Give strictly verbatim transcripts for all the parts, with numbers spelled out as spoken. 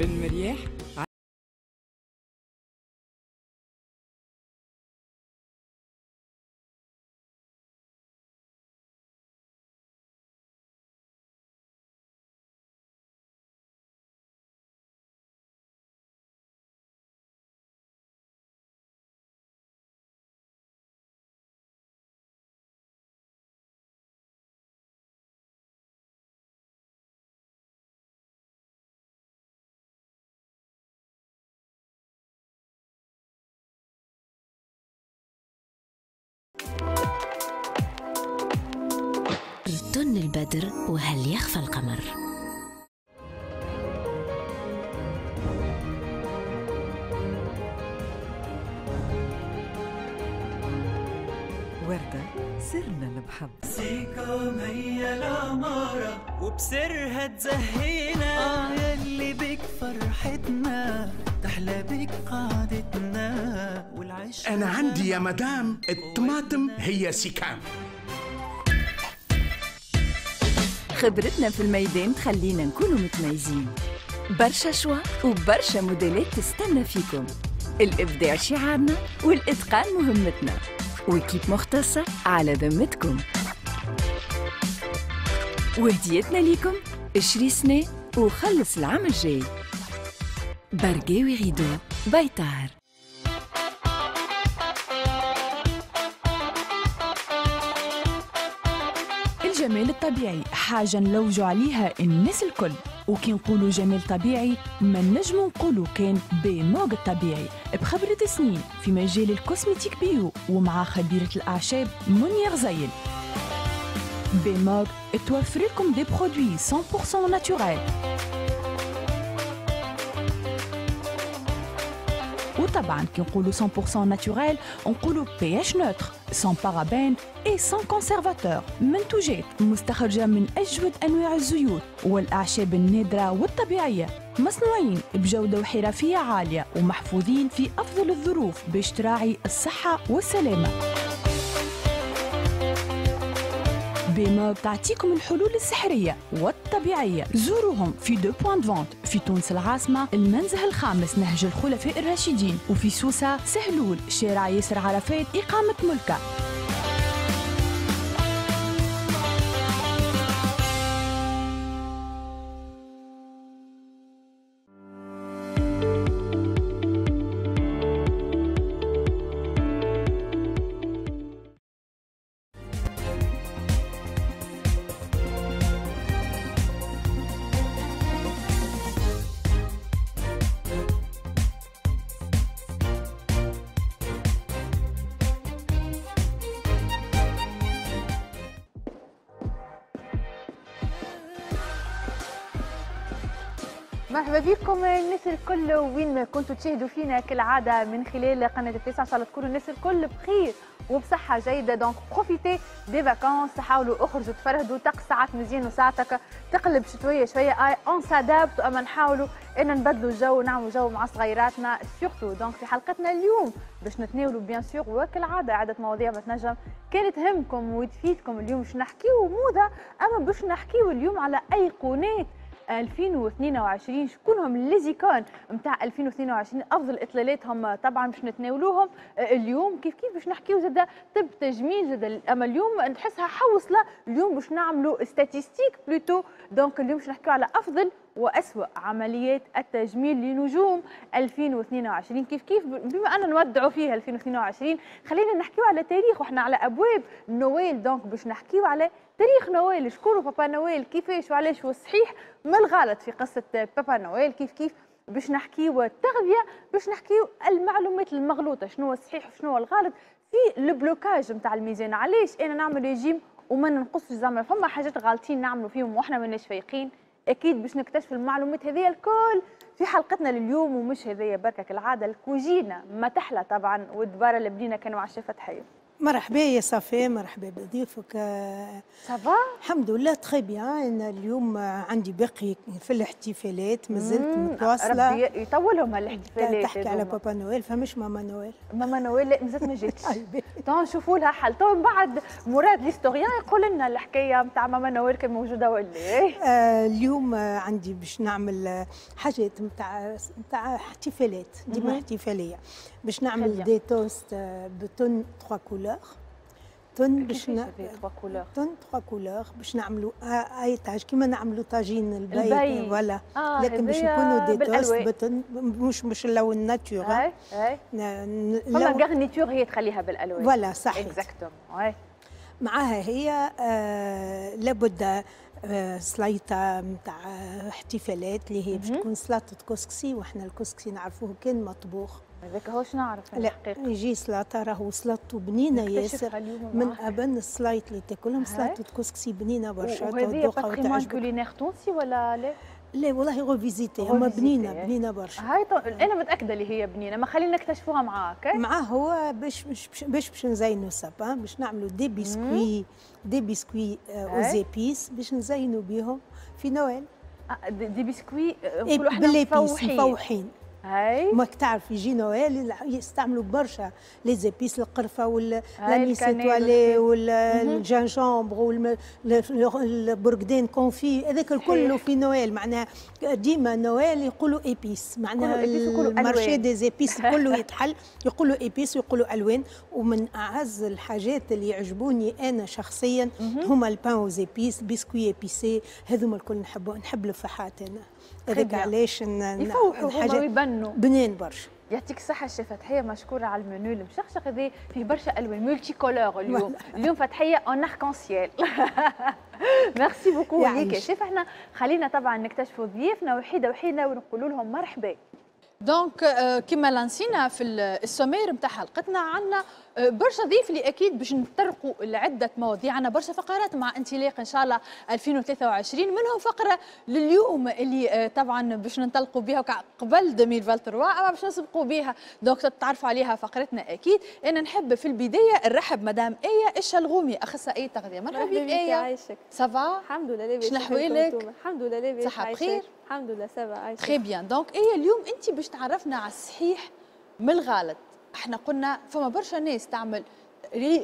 بن مرياح. تن البدر وهل يخفى القمر. وردة سرنا المحبة، سيكم هي العمارة وبسرها تزهينا، آه يلي بك فرحتنا تحلى بك قعدتنا والعيش. أنا عندي يا مدام الطماطم هي سيكام. خبرتنا في الميدان تخلينا نكونوا متميزين، برشا choix وبرشا موديلات تستنى فيكم. الإبداع شعارنا والإتقان مهمتنا، و équipe مختصة على ذمتكم. وهديتنا ليكم اشري سنة وخلص العام الجاي. برقاوي rideaux بيطار. الجمال الطبيعي حاجة نلوجوا عليها الناس الكل، وكي نقولوا جمال طبيعي ما نجموا نقولوا كان بموج الطبيعي بخبرة سنين في مجال ال cosmétique bio ومع خبيرة الأعشاب منيا غزيل. بموج توفر لكم des produits مية بالمية naturels، وطبعا كي نقولوا مية بالمية naturel نقولوا pH neutre، sans parabènes et sans conservateur. منتوجات مستخرجة من أجود أنواع الزيوت والأعشاب النادرة والطبيعية، مصنوعين بجودة وحرفية عالية ومحفوظين في أفضل الظروف باش تراعي الصحة والسلامة. بيموج تعطيكم الحلول السحرية والطبيعية. زوروهم في deux points de vente في تونس العاصمة، المنزه الخامس نهج الخلفاء الراشدين، وفي سوسة سهلول شارع ياسر عرفات إقامة ملكة. مرحبا بكم الناس الكل وين ما كنتوا تشاهدوا فينا كالعادة من خلال قناة التاسعة. ان شاء الله تكونوا الناس الكل بخير وبصحه جيدة. donc profitez des vacances، حاولوا اخرجوا تفرهدوا، طقس ساعات مزيان وساعتك تقلب شتوية شوية، اي on s'adapte، اما نحاولوا ان نبدلوا الجو ونعملوا جو مع صغيراتنا surtout. donc في حلقتنا اليوم باش نتناولوا bien sûr وكالعادة عده مواضيع ما تنجم كانت تهمكم وتفيدكم. اليوم باش نحكيو موضة، اما باش نحكيو اليوم على ايقونات ألفين واثنين وعشرين، شكون هم les icônes نتاع ألفين واثنين وعشرين، افضل اطلالاتهم طبعا باش نتناولوهم اليوم. كيف كيف باش نحكيو زاد طب تجميل زاد، اما اليوم نحسها حوصله، اليوم باش نعملوا statistiques plutôt. donc اليوم باش نحكيو على افضل واسوأ عمليات التجميل لنجوم ألفين واثنين وعشرين. كيف كيف بما ان نودعوا فيها ألفين واثنين وعشرين خلينا نحكيو على تاريخ، واحنا على ابواب نويل. donc باش نحكيو على تاريخ نويل، شكون papa Noël، كيفاش وعلاش، والصحيح من الغلط في قصة papa Noël. كيف كيف باش نحكيو التغذية، باش نحكيو المعلومات المغلوطة، شنو هو الصحيح وشنو هو الغلط في ال blocage نتاع الميزان. علاش انا نعمل ريجيم وما ننقصش؟ زعما فما حاجات غالطين نعملوا فيهم واحنا ماناش فايقين. اكيد باش نكتشف المعلومات هذه الكل في حلقتنا لليوم. ومش هذيا بركة كالعادة، الكوجينه ما تحلى طبعا والدباره اللي بنينا كانوا مع الشيف فتحيه. مرحبا يا صفاء، مرحبا بضيوفك. ça va؟ الحمد لله très bien. انا اليوم عندي باقي في الاحتفالات، مازلت متواصلة. ربي يطولهم هالاحتفالات. تحكي على papa Noël، فمش ماما نويل؟ ماما نويل لا مازالت ما جاتش، تو نشوفوا لها حل. تو من بعد مراد l'historien يقول لنا الحكاية نتاع ماما نويل كان موجودة ولا ايه. آه اليوم عندي باش نعمل حاجات نتاع نتاع احتفالات، ديما احتفالية. باش نعمل des toasts ب thon trois couleurs. thon باش ن... thon trois couleurs باش نعملوا اي طاج كيما نعملوا طاجين الباي voilà، آه لكن باش يكونوا des toasts ب thon، مش مش اللون nature. اي اي فما garniture هي تخليها بالالوان. voilà صحيح exactement. معاها هي آه لابد آه سليطه نتاع احتفالات اللي هي باش تكون سلطة كسكسي، واحنا الكسكسي نعرفوه كان مطبوخ. هذاك هو نعرف الحقيقة. يجي سلطة راهو سلطته بنينه ياسر، من ابن السلايط اللي تاكلهم سلطة كسكسي بنينه برشا. وهذه patrimoine culinaire تونسي ولا لا؟ لا والله revisité، اما بنينه بنينه برشا. هاي انا متاكدة اللي هي بنينه، ما خلينا نكتشفوها معاك. معاه هو باش باش باش, باش نزينوا sapin، باش نعملوا des biscuits des biscuits aux épices باش نزينوا بيهم في نويل. des biscuits نقولوا احنا مفوحين. مفوحين هاي ماك تعرف يجي نويل يستعملوا برشا les épices، القرفه وال l'anis étoilé وال gingembre والبرقدين confit، هذاك الكل في نويل. معناها ديما نويل يقولوا épices، معناها ال marché des épices كله يتحل، يقولوا épices ويقولوا الوان. ومن اعز الحاجات اللي يعجبوني انا شخصيا هما ال pain aux épices، biscuits épicés، هذوما الكل نحب نحب الفحات انا. هذاك علاش يفوحوا هما ويبنوا بنين برشا. يعطيك الصحة الشيف فتحية، مشكورة على المنيو المشخشخ هذا فيه برشا ألوان multicolores اليوم. اليوم فتحية en arc-en-ciel. merci beaucoup ليك يا شيف. احنا خلينا طبعا نكتشفوا ضيوفنا وحيدة وحيدة ونقولوا لهم مرحبا. donc كما لانسينا في ال sommaire نتاع حلقتنا عندنا برشا ضيف اللي اكيد باش نطرقوا لعدة مواضيع، عندنا برشا فقرات مع انطلاق ان شاء الله ألفين وثلاثة وعشرين، منهم فقره لليوم اللي طبعا باش ننطلقوا بها قبل ألفين وثلاثة وعشرين، اما باش نسبقوا بها donc تتعرفوا عليها فقرتنا اكيد. انا نحب في البداية نرحب مدام ايه الشلغومي، اخصائية تغذية. مرحبا بك ايه. عايشك. ça va؟ الحمد لله لاباس. شنو احوالك؟ الحمد لله لاباس. صحة بخير؟ الحمد لله ça va عايشك. très bien. donc ايه اليوم انت باش تعرفنا على الصحيح من الغلط. احنا قلنا فما برشا ناس تعمل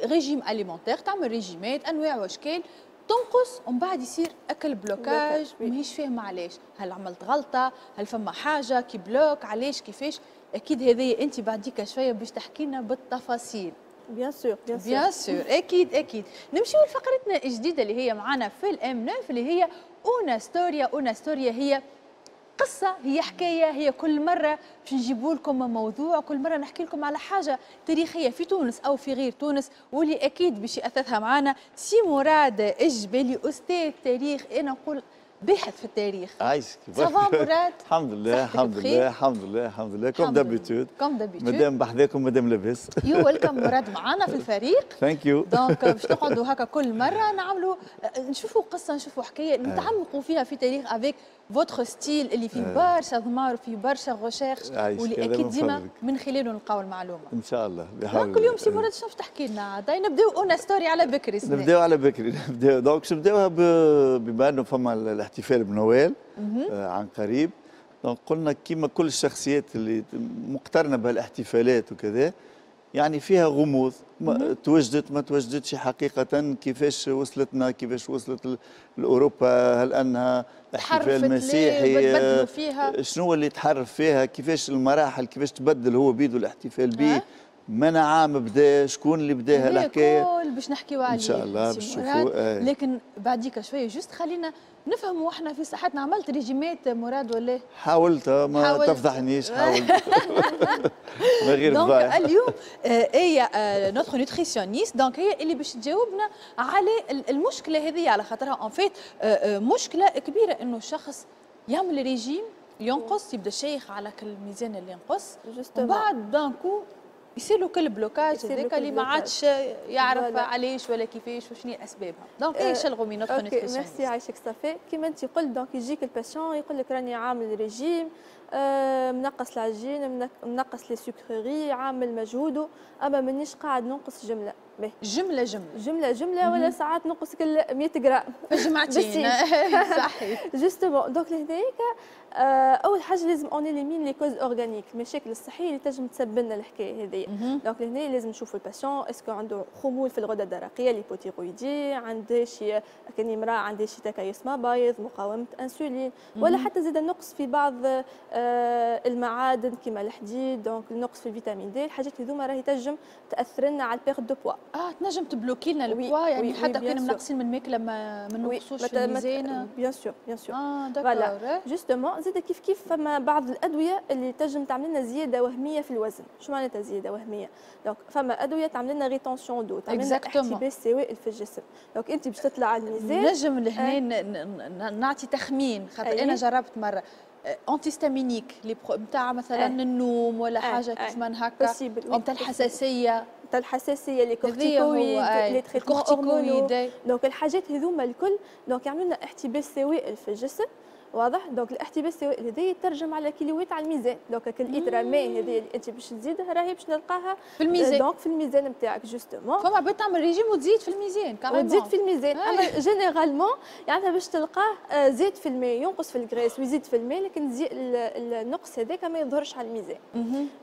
régime alimentaire، تعمل ريجيمات انواع واشكال، تنقص ومن بعد يصير اكل blocage، ماهيش فاهمه علاش، هل عملت غلطه، هل فما حاجة qui bloque، علاش كيفاش. اكيد هذه انت بعديك شوية باش تحكي لنا بالتفاصيل. bien sûr bien sûr bien sûr اكيد اكيد. نمشيو لفقرتنا الجديدة اللي هي معنا في الام تسعة اللي هي una storia. una storia هي قصة، هي حكاية، هي كل مرة باش نجيبوا لكم موضوع، كل مرة نحكي لكم على حاجة تاريخية في تونس أو في غير تونس، واللي أكيد باش يأثثها معنا سي مراد الجبالي، أستاذ تاريخ، أنا نقول باحث في التاريخ. عايشك. ça va مراد؟ الحمد لله الحمد لله الحمد لله الحمد لله comme d'habitude. comme d'habitude. مادام بحذاكم مادام لاباس. you welcome مراد معنا في الفريق. thank you. donc باش نقعدوا هكا كل مرة نعملوا نشوفوا قصة، نشوفوا حكاية نتعمقوا فيها في تاريخ avec votre style اللي فيه برشا ضمار وفيه برشا recherche، واللي اكيد ديما من خلاله نلقاو المعلومة. ان شاء الله بحول الله. كل يوم سي مراد شنو تحكي لنا عاد؟ نبداو une story على بكري. نبداو على بكري. نبداو donc باش نبداوها بما انه فما الاحتفال بنويل آه عن قريب. donc قلنا كيما كل الشخصيات اللي مقترنة بهالاحتفالات وكذا، يعني فيها غموض، ما توجدت ما توجدتش حقيقة، كيفاش وصلتنا، كيفاش وصلت لأوروبا، هل أنها احتفال مسيحي، فيها شنو اللي تحرف فيها، كيفاش المراحل، كيفاش تبدل هو بيدو الاحتفال به، من عام بدا، شكون اللي بداها الحكاية، كل باش نحكيو عليه ان شاء الله باش نشوفوا. لكن بعديك شوية juste خلينا نفهموا احنا في صحتنا. عملت ريجيمات مراد ولا؟ حاولت ما حاولت. تفضحنيش، حاولت من غير فضايح. donc اليوم هي notre nutritionniste، donc هي اللي باش تجاوبنا على المشكلة هذه، على خاطرها en fait مشكلة كبيرة انه الشخص يعمل ريجيم ينقص، يبدا شيخ على كل الميزان اللي ينقص، وبعد d'un coup يصير له كل blocage هذاك اللي ما عادش يعرف علاش ولا كيفاش وشنو اسبابها. donc ايه شلغومي notre nutritionniste. ميرسي عايشك صافي. كيما انت قلت donc يجيك ال patient يقول لك راني عامل ريجيم، آه منقص العجين، منقص les sucreries، عامل مجهوده، اما مانيش قاعد ننقص جملة. جملة جملة جملة جملة ولا ساعات نقص كل مية غرام جمعتين. صحيح justement. donc لهناك اول حاجة لازم on élimine les causes organiques، المشاكل الصحية اللي تنجم تسبب لنا الحكاية هذه. donc لهنا لازم نشوفوا ال patient est-ce que عنده خمول في الغدة الدرقيه، l'hypothyroïdie، عنده شي كان امراة عندها شي تكيس مبايض، مقاومة انسولين، ولا حتى زاد النقص في بعض المعادن كما الحديد، donc النقص في ال vitamine D. الحاجات هذوما راهي تنجم تاثر لنا على ال perte de poids. اه تنجم تبلوكي لنا ال poids، يعني حتى كنا منقصين من الماكلة ما ما نقصوش في الميزان. bien sûr bien sûr. اه d'accord. justement زاد كيف كيف فما بعض الادوية اللي تنجم تعمل لنا زيادة وهمية في الوزن. شو معناتها زيادة وهمية؟ donc فما ادوية تعمل لنا rétention d'eau، تعمل لنا احتباس سوائل في الجسم. donc انت باش تطلع على الميزان نجم لهنا نعطي تخمين خاطر انا جربت مرة antihistaminique لي نتاع مثلا النوم ولا حاجة كيف ما هكا، نتاع الحساسية، نتاع الحساسية، les corticoïdes، les traitements hormonaux. donc الحاجات هذوما الكل donc يعملوا لنا احتباس سوائل في الجسم، واضح؟ donc الاحتباس السوائل هذا يترجم على كيلوات على الميزان. donc الإترا ماء هذه اللي انت باش تزيدها راهي باش نلقاها في الميزان. donc في الميزان نتاعك justement. فما عباد تعمل ريجيم وتزيد في الميزان. وتزيد في الميزان، اما généralement يعني باش تلقاه زيد في الماء، ينقص في ال graisse ويزيد في الماء، لكن النقص هذاك ما يظهرش على الميزان.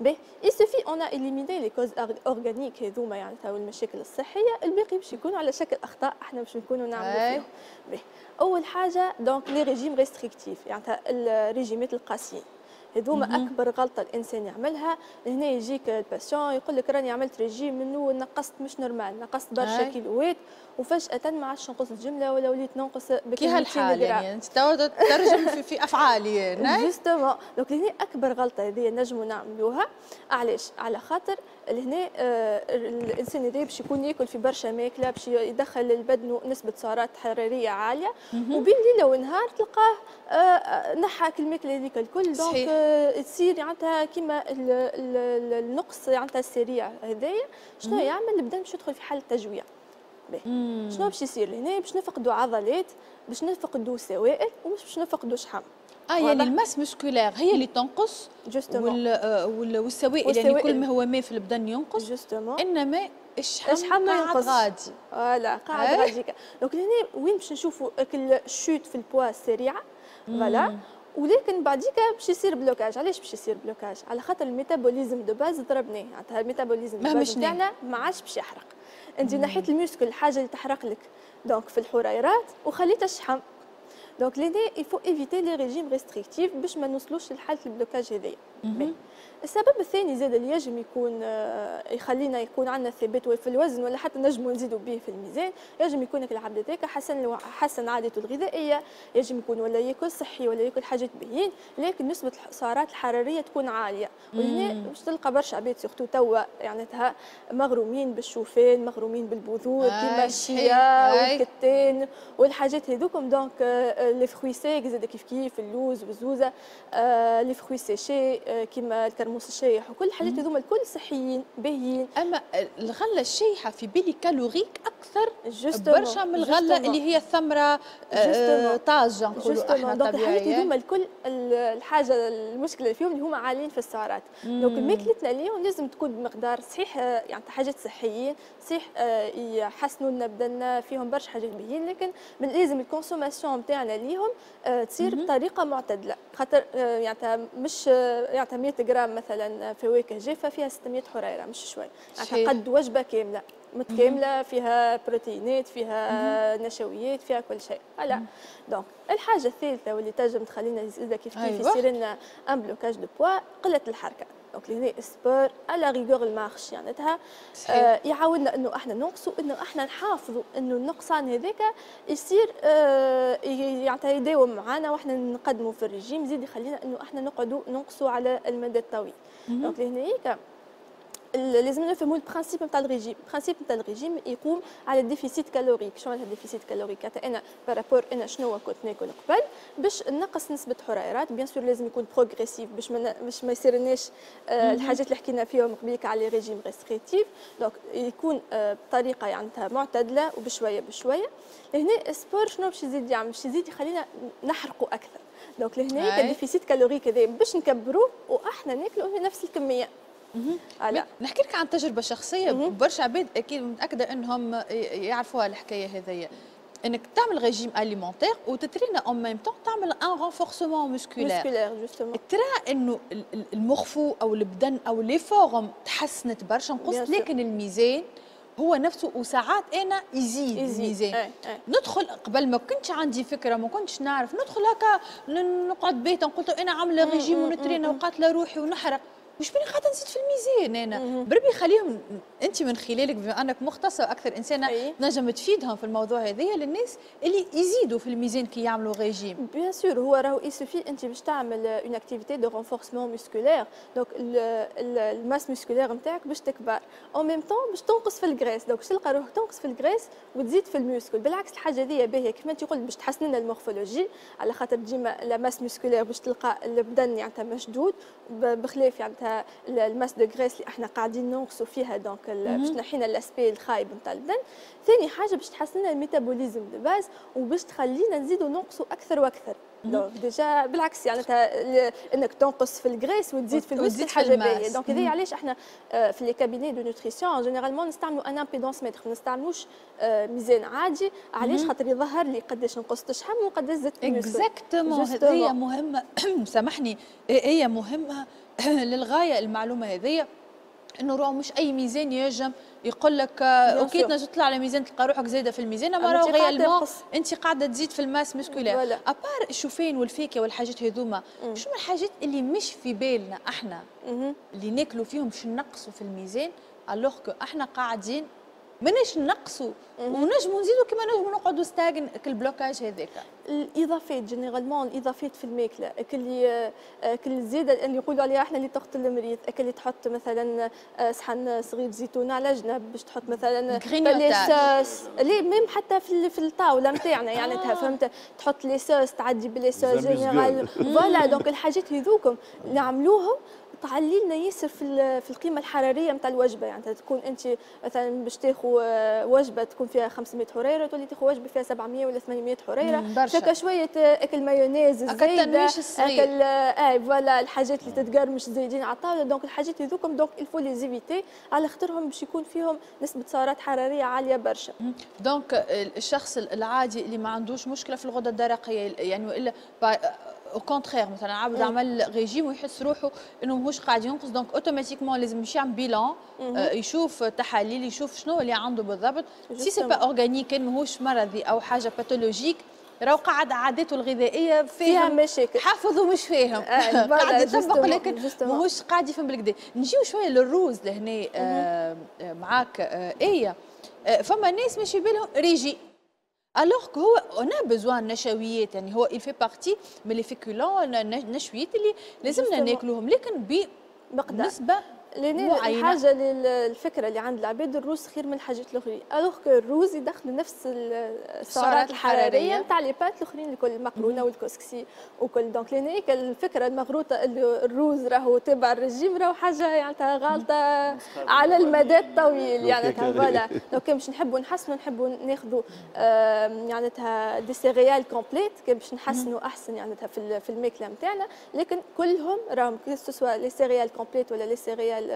باهي، il suffit on a éliminé les causes organiques هذوما يعني المشاكل الصحيه، الباقي باش يكونوا على شكل اخطاء احنا باش نكونوا نعملوا فيهم. باهي، اول حاجة donc les régimes restrictifs، يعني الريجيمات القاسيين هذوما اكبر غلطه الانسان يعملها. هنا يجيك ال patient يقول لك راني عملت ريجيم منه نقصت مش normal، نقصت برشا كيلوات وفجاة ما عادش نقص الجملة ولا وليت ننقص. كي هالحال يعني انت ترجم في, في افعالي. justement. donc لهنا اكبر غلطه هذه نجموا نعملوها. علاش؟ على خاطر لهنا آه الانسان هذا باش يكون ياكل في برشا ماكله، باش يدخل للبدن نسبه سعرات حرارية عالية، وبين ليلة ونهار تلقاه آه نحى الماكلة هذيك الكل. donc آه تصير معناتها كيما النقص معناتها السريع هذايا شنو يعمل؟ البدن باش يدخل في حاله تجويع. شنو باش يصير لهنا؟ باش نفقدوا عضلات، باش نفقدوا سوائل، ومش باش نفقدوا شحم. اه يعني ال masse musculaire هي اللي تنقص وال والسوائل، يعني كل ما هو ماء في البدن ينقص justement، انما الشحم الشحم ما ينقص غادي. voilà قاعد غادي. donc لهنا وين باش نشوفوا ال chute في ال poids السريعة، voilà، ولكن بعديك باش يصير blocage. علاش باش يصير blocage؟ على خاطر ال métabolisme de base ضربناه، معناتها ال métabolisme de base نتاعنا ما عادش باش يحرق. انت نحيت ال muscle، الحاجة اللي تحرق لك donc في الحريرات، وخليت الشحم. donc لهنا il faut éviter les régimes restrictifs باش ما نوصلوش لحاله ال blocage هذايا. السبب الثاني زاد اللي يجم يكون يخلينا يكون عندنا ثبات في الوزن ولا حتى نجموا نزيدوا به في الميزان، يجم يكون العبد هذاك حسن حسن عادته الغذائيه، يجم يكون ولا ياكل صحي ولا ياكل حاجات باهيين، لكن نسبه السعرات الحرارية تكون عالية. وهنا باش تلقى برشا عباد surtout توا يعني مغرومين بالشوفان، مغرومين بالبذور كيما الشيا والكتان والحاجات هذوكم. donc les fruits secs زاد كيف كيف، اللوز والزوزه، les fruits séchés كيما الكرموس الشايح وكل الحاجات هذوما الكل صحيين باهيين. اما الغلة الشايحه في بالي calorique اكثر برشا من الغلة اللي هي الثمرة آه طازجه نقولوا احنا. donc الحاجات هذوما الكل الحاجة المشكلة اللي فيهم اللي هما عاليين في السعرات. donc ماكلتنا اليوم لازم تكون بمقدار صحيح، يعني حاجات صحيين صحيح يحسنوا لنا بدنا، فيهم برشا حاجات باهيين، لكن من لازم ال consommation نتاعنا ليهم تصير بطريقة معتدلة، خاطر يعني مش يعني مية غرام مثلا فواكه جافة فيها ستمية حريره، مش شوي، يعني قد وجبة كاملة متكاملة فيها بروتينات، فيها نشويات، فيها كل شيء. voilà. donc الحاجة الثالثة واللي تنجم تخلينا زاده كيف كيف يصير لنا un blocage de poids، قلة الحركه. donc لهنا sport à la rigueur ال marche يعني آه يعاوننا انه احنا ننقصوا، انه احنا نحافظوا انه النقصان هذاك يصير آه يعني يداوم معنا واحنا نقدموا في الريجيم، يزيد يخلينا انه احنا نقعدوا ننقصوا على المدى الطويل. donc لهنا لازم نفهموا ال principe نتاع ال régime. ال principe نتاع الريجيم يقوم على ال déficit calorique. شنو معناتها ال déficit calorique؟ انا par rapport انا شنو كنت ناكل قبل باش نقص نسبه حرارات. bien sûr لازم يكون progressif باش ما باش ما يصيرناش آه الحاجات اللي حكينا فيهم قبيلك على les régimes restrictifs. donc يكون آه بطريقة يعني معتدلة وبشويه بشوية. لهنا sport شنو باش يزيد يعمل؟ باش يزيد يخلينا نحرقوا اكثر. donc لهنا ال déficit calorique هذا باش نكبروه واحنا ناكلوا نفس الكمية. نحكي لك عن تجربه شخصية، برشا عباد اكيد متاكدة انهم يعرفوها الحكاية هذيا، انك تعمل régime alimentaire وتترينا en même temps تعمل un renforcement musculaire. justement ترى انه ال morpho او البدن او les formes تحسنت برشا، نقصت، لكن الميزان هو نفسه، وساعات انا يزيد, يزيد. الميزان. ايه ايه. ندخل قبل ما كنتش عندي فكرة، ما كنتش نعرف، ندخل هكا نقعد بيتا نقول انا عامله ريجيم ونترينا وقاتله روحي ونحرق، مش بني قاعدة نزيد في الميزان انا. بربي خليهم انت من خلالك بما انك مختصة واكثر انسانه تنجم تفيدهم في الموضوع هذايا للناس اللي يزيدوا في الميزان كي يعملوا régime. bien sûr، هو راهو il suffit انت باش تعمل une activité de renforcement musculaire، donc ال masse musculaire نتاعك باش تكبر، en même temps باش تنقص في ال graisse، donc باش تلقى روحك تنقص في ال graisse وتزيد في ال muscle. بالعكس الحاجة هذه باهيه كيف ما انت قلت باش تحسن لنا ال morphologie، على خاطر ديما la masse musculaire باش تلقى البدن يعني مشدود، بخلاف يعني ال masse de graisse اللي احنا قاعدين ننقصوا فيها، donc باش تنحينا l'aspect الخايب نتاع البدن. ثاني حاجة باش تحسن لنا ال métabolisme de base وباش تخلينا نزيدوا ننقصوا اكثر واكثر. donc déjà بالعكس يعني انك تنقص في ال graisse وتزيد في ال muscle حاجة باهيه. donc هذه علاش احنا في les cabinets de nutrition généralement نستعملوا un impédancemètre، ما نستعملوش ميزان عادي. علاش؟ خاطر يظهر لي قداش نقصت شحم وقداش زدت. exactement، هذه مهمه، سامحني، هي مهمة للغاية المعلومة هذه، انه راهو مش اي ميزان ينجم يقول لك OK تنجم تطلع على ميزان تلقى روحك زايدة في الميزان، اما راهو réellement انت قاعدة تزيد في ال masse musculaire. à part الشوفان والفاكهه والحاجات هذوما، شنو الحاجات اللي مش في بالنا احنا اللي ناكلوا فيهم باش نقصوا في الميزان، alors que احنا قاعدين ماناش نقصوا ونجموا نزيدوا كما نجموا نقعدوا stagne كال blocage هذاك؟ الاضافات généralement، الاضافات في الماكله، اللي كل الزيادة اللي يقولوا عليها احنا اللي تقتل المريض، اللي تحط مثلا صحن صغير زيتون على جنب، باش تحط مثلا les sauces les même حتى في في الطاولة نتاعنا يعني آه. فهمت، تحط les sauces، تعدي ب les sauces général، voilà. donc الحاجات هذوكم نعملوهم تعلي لنا ياسر في في القيمة الحرارية نتاع الوجبه. يعني تكون انت مثلا باش تاخذ وجبة تكون فيها خمسمية حريره، تولي تاخذ وجبة فيها سبعمية ولا ثمانمية حريره. شكا شوية اكل مايونيز زايده، اكل اي voilà، الحاجات اللي تتقرمش زايدين على الطاوله. donc الحاجات هذوكم donc il faut les éviter على خاطرهم باش يكون فيهم نسبه سعرات حرارية عالية برشا. donc الشخص العادي اللي ما عندوش مشكلة في الغدة الدرقية يعني، والا au contraire مثلا عبد عمل ريجيم ويحس روحه انه ماهوش قاعد ينقص، donc automatiquement لازم يمشي يعمل bilan، آه يشوف تحاليل، يشوف شنو اللي عنده بالضبط. si c'est pas organique، كان ماهوش مرضي او حاجة pathologique، راهو قاعد عاداته الغذائية فيها مشاكل. حافظ ومش فاهم، آه قاعد يطبق لكن ماهوش قاعد يفهم بالكدا. نجيو شوية للروز لهنا آه معاك آه ايه آه فما ناس ماشي بالهم régime، alors que هو on a besoin نشويات، يعني هو il fait partie من les féculents، النشويات اللي لازمنا ناكلوهم لكن بمقدار نسبه لان الحاجة الفكرة اللي عند العباد الروز خير من الحاجات الاخرين، alors que الروز يدخلوا نفس السعرات الحرارية نتاع les pâtes الاخرين الكل، المقرونه والكسكسي وكل. donc لان الفكرة المغروطه اللي الروز راهو تبع الرجيم راهو حاجة يعني غالطه على المدى الطويل يعني. voilà، donc باش نحبوا نحسنوا نحبوا ناخذوا يعني des céréales complètes باش نحسنوا احسن يعني في في الماكلة نتاعنا، لكن كلهم راهم que ce soit les céréales complètes ولا les céréales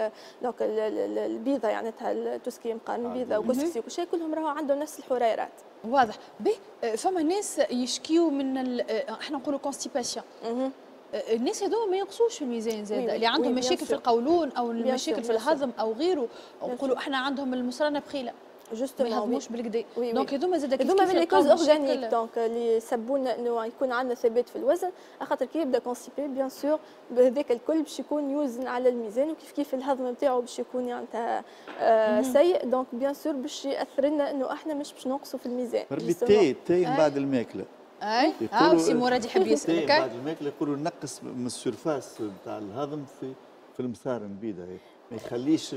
donc البيضة يعني tout ce qui مقارن بيضة وكسكسي وكل شيء، كلهم راهو عندهم نفس الحريرات. واضح. به فما ناس يشكيو من احنا نقولوا constipation، الناس هذوما ما ينقصوش في الميزان زاد، اللي عندهم مشاكل في القولون او المشاكل في الهضم او غيره، نقولوا احنا عندهم المصرانه بخيله justement ما يهضموش بالكدا، donc هذوما زاد كيف هذوما من les causes organiques donc اللي سبونا انه يكون عندنا ثبات في الوزن، خاطر كي يبدا constipé bien sûr بهذاك الكل باش يكون يوزن على الميزان، وكيف كيف الهضم نتاعو باش يكون يعني آه سيء، donc bien sûr باش ياثر لنا انه احنا مش باش ننقصوا في الميزان. ربي التاي، التاي من بعد الماكلة. اي اه سي مراد يحب يسالك. بعد الماكلة يقولوا نقص من ال surface نتاع الهضم في في المصارن بيدها، ما يخليش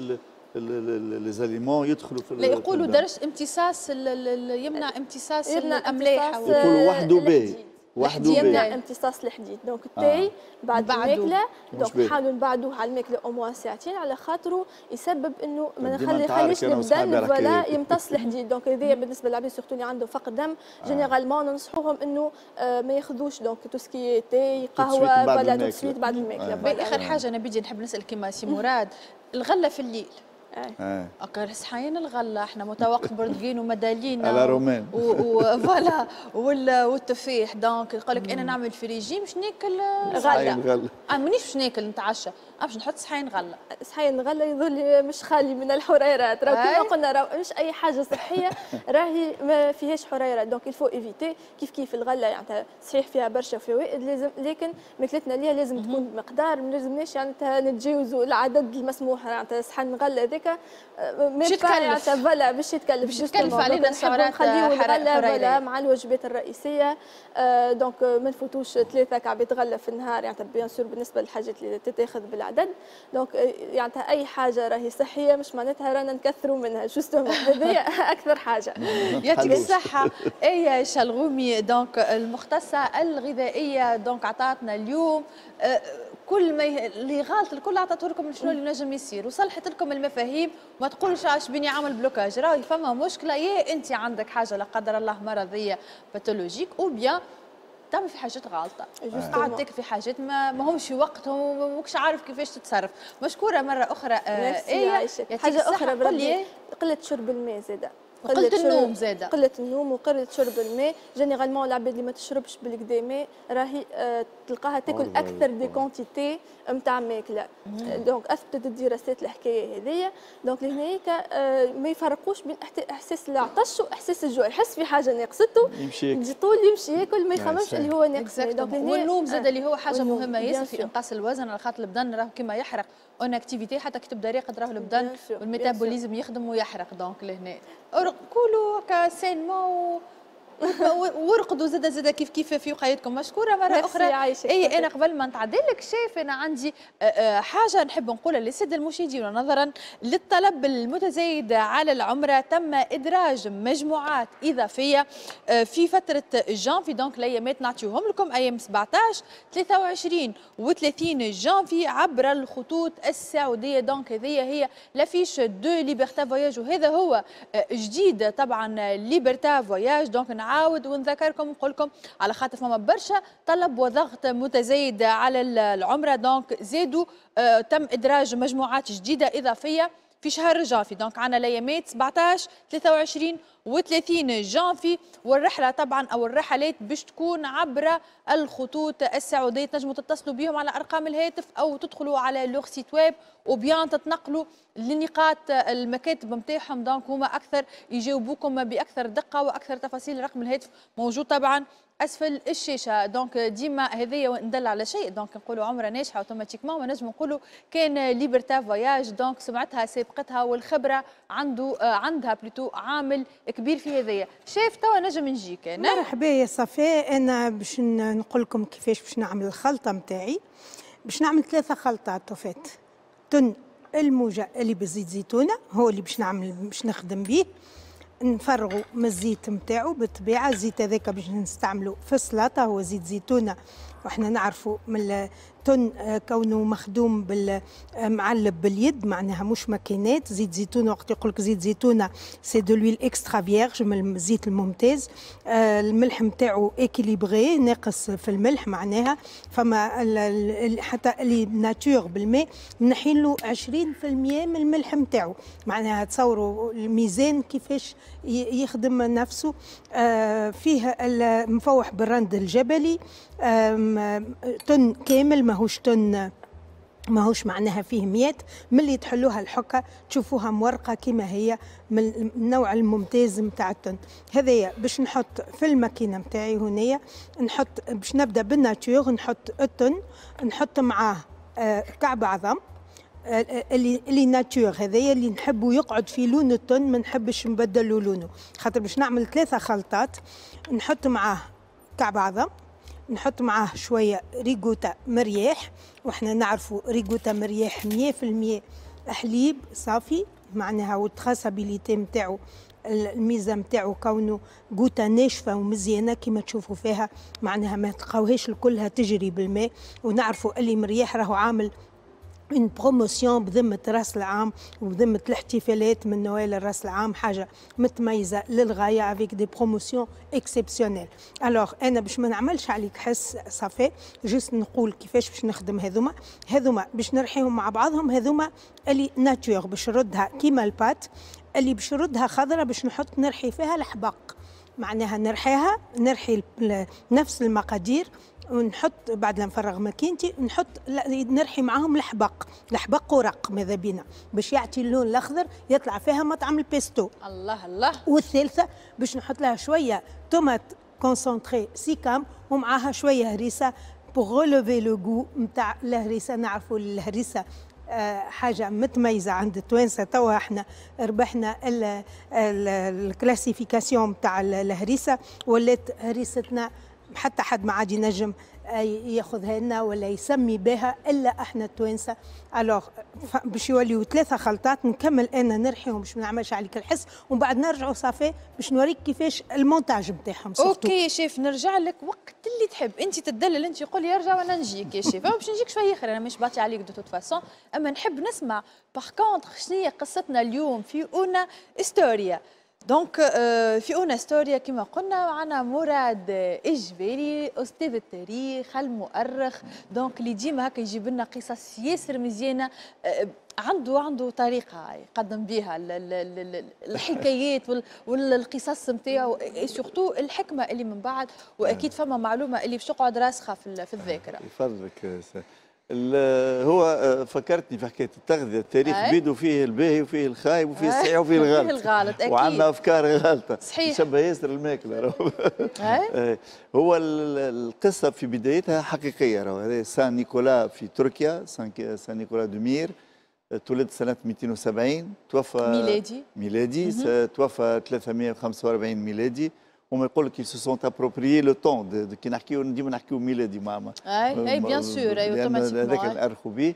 les aliments يدخلوا في لا يقولوا درجه امتصاص، يمنع امتصاص الاملاح. يقولوا وحده باهي. وحده يمنع امتصاص الحديد. donc التاي آه. بعد الماكلة donc نحاولوا نبعدوه على الماكلة au moins ساعتين على خاطره يسبب انه ما نخليش البدن voilà يمتص الحديد. donc هذايا بالنسبة للعباد surtout اللي عندهم فقر دم généralement ننصحوهم انه آه ما ياخذوش donc tout ce qui est تاي قهوة voilà tout de suite بعد الماكلة. اخر حاجة انا بيجي نحب نسال كيما سي مراد، الغلة في الليل اه اكا صحيين الغلة احنا متوقف برتقين ومدالينا على رومان و voilà والتفاح. donc يقول لك انا نعمل في ريجيم باش ناكل غله، غله اه مانيش باش ناكل نتعشى، باش نحط صحين غله. صحين غله يظل مش خالي من الحريرات، راه كما قلنا راه مش اي حاجة صحية راهي ما فيهاش حريرات، donc il faut éviter. كيف كيف الغلة يعني صحيح فيها برشا فوائد لازم، لكن ماكلتنا ليها لازم تكون بمقدار، ما لازمناش يعني نتجاوزوا العدد المسموح. يعني صحن غله هذاك باش يتكلف voilà باش يتكلف باش يتكلف علينا السعرات الحرارية voilà مع الوجبات الرئيسية. donc ما نفوتوش ثلاثة كعبات غله في النهار، يعني bien sûr بالنسبة للحاجات اللي تتاخذ بالعدد. donc يعني اي حاجة راهي صحية مش معناتها رانا نكثروا منها، justement هذه اكثر حاجة. يعطيك الصحة ايه شلغومي، donc المختصة الغذائية، donc عطاتنا اليوم كل ما اللي غلط الكل عطاته لكم شنو اللي نجم يصير وصلحت لكم المفاهيم. ما تقولش عاش بيني عامل blocage، راهي فما مشكلة، يا انت عندك حاجة لا قدر الله مرضية pathologique ou bien تعمل في حاجات غالطه، قاعد تاكل في حاجات ما همش في وقتهم وماكش عارف كيفاش تتصرف. مشكورة مرة اخرى ايه. حاجة اخرى بربي، قلة شرب الماء زاده، قلة النوم زاده، قلة النوم وقلة شرب الماء. généralement العباد اللي ما تشربش بالكدا ماء راهي آه تلقاها تاكل اكثر des quantités نتاع ماكله. donc اثبتت الدراسات الحكاية هذيا. donc لهناك آه ما يفرقوش بين احساس العطش واحساس الجوع، يحس في حاجة ناقصته يجي طول يمشي ياكل ما يخممش اللي هو ناقص. donc والنوم زاده اللي هو حاجة مهمة ياسر في انقاص الوزن، على خاطر البدن راه كما يحرق en activité حتى كي تبدا راقد راه البدن وال métabolisme يخدم ويحرق. donc لهنا كولوا هكا sainement ورقدوا زاده زاده كيف كيف في وقايتكم. مشكورة مرة اخرى. اي انا قبل ما نتعدل لك شايف انا عندي حاجة نحب نقولها للسادة المشاهدين، ونظرا للطلب المتزايد على العمرة تم ادراج مجموعات اضافية في فترة جانفي. donc الايامات نعطيهم لكم ايام سبعطاش ثلاثة وعشرين وثلاثين جانفي عبر الخطوط السعودية. donc هذه هي l'affiche de Liberta Voyages، وهذا هو جديد طبعا Liberta Voyages. donc نعاود ونذكركم ونقول لكم على خاطر فما برشا طلب وضغط متزايد على العمرة، donc زادوا آه تم ادراج مجموعات جديدة اضافية في شهر جانفي. donc عندنا الايامات سبعطاش ثلاثة وعشرين وثلاثين جانفي، والرحلة طبعا او الرحلات باش تكون عبر الخطوط السعودية. تنجموا تتصلوا بهم على ارقام الهاتف او تدخلوا على leur site web ou bien تتنقلوا لنقاط المكاتب نتاعهم. donc هما اكثر يجاوبوكم باكثر دقه واكثر تفاصيل. رقم الهاتف موجود طبعا اسفل الشاشة. donc ديما هذايا ندل على شيء، donc نقولوا عمره ناجحة automatiquement ما نجم نقولوا كان Liberta Voyages. donc سمعتها سابقتها والخبرة عنده عندها plutôt عامل كبير في هذايا. شايف توا نجم نجيك انا. مرحبا يا صفاء، انا باش نقول لكم كيفاش باش نعمل الخلطة نتاعي. باش نعمل ثلاثة خلطات en fait. تن الموجه اللي بزيت زيتونه هو اللي باش نعمل باش نخدم به، نفرغوا من الزيت نتاعو بالطبيعة. الزيت هذاك باش نستعملو في السلطة هو زيت زيتونه، واحنا نعرفوا من التن كونه مخدوم بالمعلب باليد معناها مش ماكينات. زيت زيتونه وقت يقول لك زيت زيتونه c'est de l'huile extra vierge من الزيت الممتاز. الملح نتاعو équilibré ناقص في الملح معناها فما حتى اللي nature بالماء منحين له عشرين بالمية من الملح نتاعو، معناها تصوروا الميزان كيفاش يخدم نفسه. فيه المفوح بالرند الجبلي، تن كامل ماهوش تن ماهوش معناها فيه ميات. ملي تحلوها الحكة تشوفوها مورقه كما هي من النوع الممتاز نتاع التن. هذايا باش نحط في الماكينة نتاعي هنايا، نحط باش نبدا بال nature، نحط التن، نحط معاه كعب عظم اللي اللي nature هذايا اللي نحبه يقعد في لون التن، ما نحبش نبدلو لونه خاطر باش نعمل ثلاثة خلطات. نحط معاه كعب عظم، نحط معاه شوية ريغوتا مرياح، واحنا نعرفوا ريغوتا مرياح مية في المية حليب صافي معناها وال traçabilité نتاعو الميزة نتاعو كونه goutte ناشفة ومزيانه كما تشوفوا فيها، معناها ما تلقاوهاش كلها تجري بالماء. ونعرفوا اللي مرياح راهو عامل une promotion بذمة راس العام وبذمة الاحتفالات من نوال راس العام، حاجة متميزة للغاية avec des promotions exceptionnelles. alors انا باش ما نعملش عليك حس صافي، juste نقول كيفاش باش نخدم هذوما. هذوما باش نرحيهم مع بعضهم، هذوما اللي nature باش نردها كيما ال pâte، اللي باش نردها خضرة باش نحط نرحي فيها الحبق، معناها نرحيها نرحي نفس المقادير ونحط بعد لا نفرغ ماكينتي نحط نرحي معاهم الحبق، الحبق ورق ماذا بينا باش يعطي اللون الاخضر يطلع فيها مطعم البيستو. الله الله. والثالثة باش نحط لها شوية tomate concentrée سيكام ومعاها شوية هريسه pour relever le goût نتاع الهريسه. نعرفوا الهريسه حاجة متميزة عند التوانسة، توا احنا ربحنا ال classification نتاع الهريسه، ولات هريستنا حتى حد ما عاد ينجم ياخذها لنا ولا يسمي بها الا احنا التوانسة. alors باش يوليو ثلاثة خلطات نكمل انا نرحيهم باش ما نعملش عليك الحس، ومن بعد نرجعوا صافي باش نوريك كيفاش المونتاج نتاعهم. OK chef، نرجع لك وقت اللي تحب انت، تدلل انت، قول لي ارجع وانا نجيك يا شيف. باش نجيك شوية اخر، انا مش باطي عليك de toute façon، اما نحب نسمع par contre شنو هي قصتنا اليوم في una storia. donc في una storia كما قلنا معنا مراد الجبالي، استاذ التاريخ المؤرخ، donc اللي ديما هكا يجيب لنا قصص ياسر مزيانه، عنده عنده طريقه يقدم بها الحكايات والقصص نتاعو، surtout الحكمة اللي من بعد، واكيد فما معلومة اللي باش تقعد راسخة في الذاكرة. يفضلك. هو فكرتني في حكاية التغذية، التاريخ بيدو فيه الباهي وفيه الخايب وفيه الصحيح وفيه الغلط. فيه الغلط اكيد، وعندنا افكار غلطه. صحيح، شبه ياسر الماكلة. هو القصة في بدايتها حقيقية، راهو هذا Saint Nicolas في تركيا، Saint Saint Nicolas de Myre، تولد سنة مئتين وسبعين، توفى ميلادي ميلادي توفى ثلاثمئة وخمسة وأربعين ميلادي. هما يقول لك se sont approprié le temps، كي نحكيو ديما نحكيو ميلادي مع اي اي bien sûr، اي automatiquement هذاك نأرخوا به.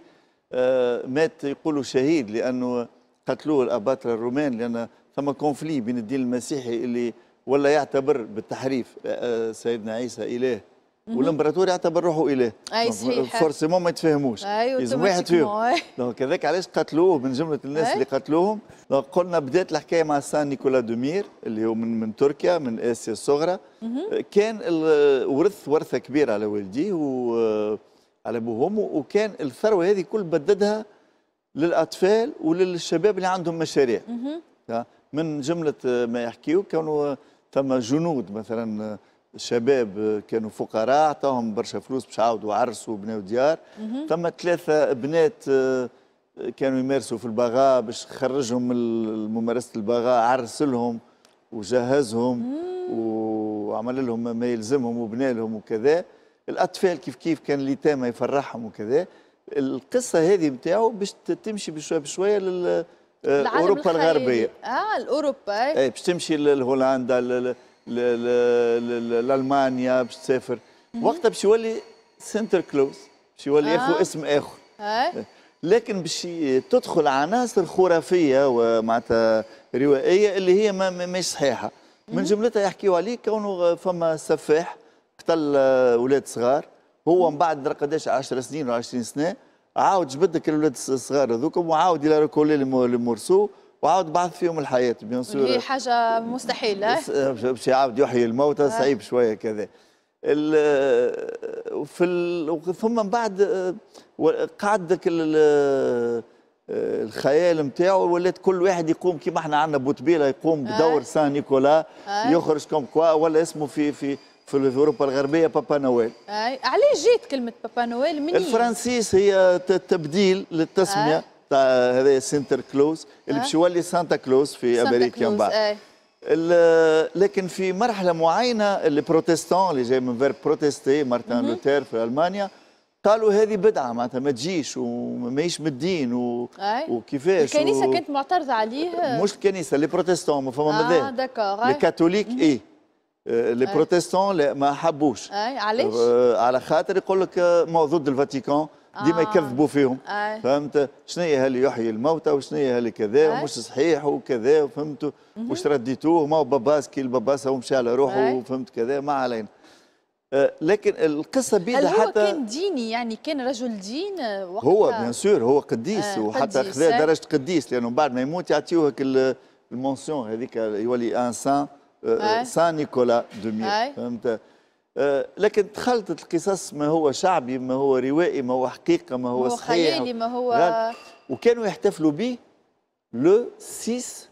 آه مات يقولوا شهيد لانه قتلوه الاباطره الرومان، لان ثم conflit بين الدين المسيحي اللي ولا يعتبر بالتحريف آه سيدنا عيسى اله، والامبراطور يعتبر روحه اله. اي صحيح، forcément ما يتفاهموش، لازم واحد فيهم. donc هذاك علاش قتلوه، من جملة الناس اللي قتلوهم. donc قلنا بدات الحكاية مع Saint Nicolas de Myre اللي هو من من تركيا، من اسيا الصغرى. كان ورث ورثه كبيرة على والديه وعلى ابوه وامه، وكان الثروة هذه كل بددها للاطفال وللشباب اللي عندهم مشاريع. من جملة ما يحكيو كانوا ثم جنود مثلا، شباب كانوا فقراء اعطاهم برشا فلوس باش عاودوا عرسوا وبناو ديار. ثم ثلاثة بنات كانوا يمارسوا في البغاء باش خرجهم من ممارسة البغاء، عرس لهم وجهزهم وعمل لهم ما يلزمهم وبنى لهم وكذا. الاطفال كيف كيف كان اليتامى يفرحهم وكذا. القصة هذه نتاعو باش تمشي بشوية بشوية لل اوروبا الغربية. اه الاوروبا، اي باش تمشي لهولندا، لالمانيا، باش تسافر. وقتها باش يولي سنتر كلوز، باش يولي ياخذ آه. اسم اخر. آه. لكن باش تدخل عناصر خرافية ومعناتها روائيه اللي هي ما مش صحيحه. من جملتها يحكيوا عليه كونه فما سفاح قتل اولاد صغار، هو من بعد قداش عشر سنين ولا عشرين سنة عاود جبد الاولاد الصغار هذوك وعاود il a recollé les morceaux وعاود بعث فيهم الحياة. bien sûr هي حاجة مستحيلة، باش يعاود يحيي الموتى صعيب شوية كذا. في ال... ثم من بعد قعد ذاك الخيال نتاعو، ولات كل واحد يقوم كيما احنا عندنا بوتبيله يقوم بدور Saint Nicolas، يخرج comme quoi ولا اسمه في في في اوروبا الغربية Papa Noël. اي علاش جات كلمة Papa Noël منين؟ الفرنسيس هي تبديل للتسميه تاع هذا سنتر كلوز اللي باش يولي سانتا كلوز في امريكا من بعد. لكن في مرحلة معينة les protestants اللي جاي من verbe protester، مارتن لوثر في المانيا، قالوا هذه بدعة معناتها ما تجيش وماهيش من الدين و... وكيفاش الكنيسة و... كانت معترضة عليه. مش الكنيسة، les protestants، ما فما مذاهب. اه d'accord. les catholiques اي les protestants ما حبوش. اي علاش؟ على خاطر يقول لك ما ضد الفاتيكان ديما يكذبوا فيهم. آه. فهمت شنو هي اللي يحيي الموتى وشنو هي اللي كذا ومش صحيح وكذا، فهمت واش رديتوه، ما هو باباس كي الباباس هو مشى على روحه وفهمت كذا، ما علينا. آه لكن القصة بيدها حتى هو كان ديني، يعني كان رجل دين وقتها. هو bien sûr هو قديس. آه. وحتى خذا درجه قديس، لانه بعد ما يموت يعطيوه ال mention هذيك، يولي un saint، Saint Nicolas de Myre، فهمت. لكن تخلطت القصص، ما هو شعبي، ما هو روائي، ما هو حقيقة، ما هو صحيح، خيالي، ما هو. وكانوا يحتفلوا به le ستة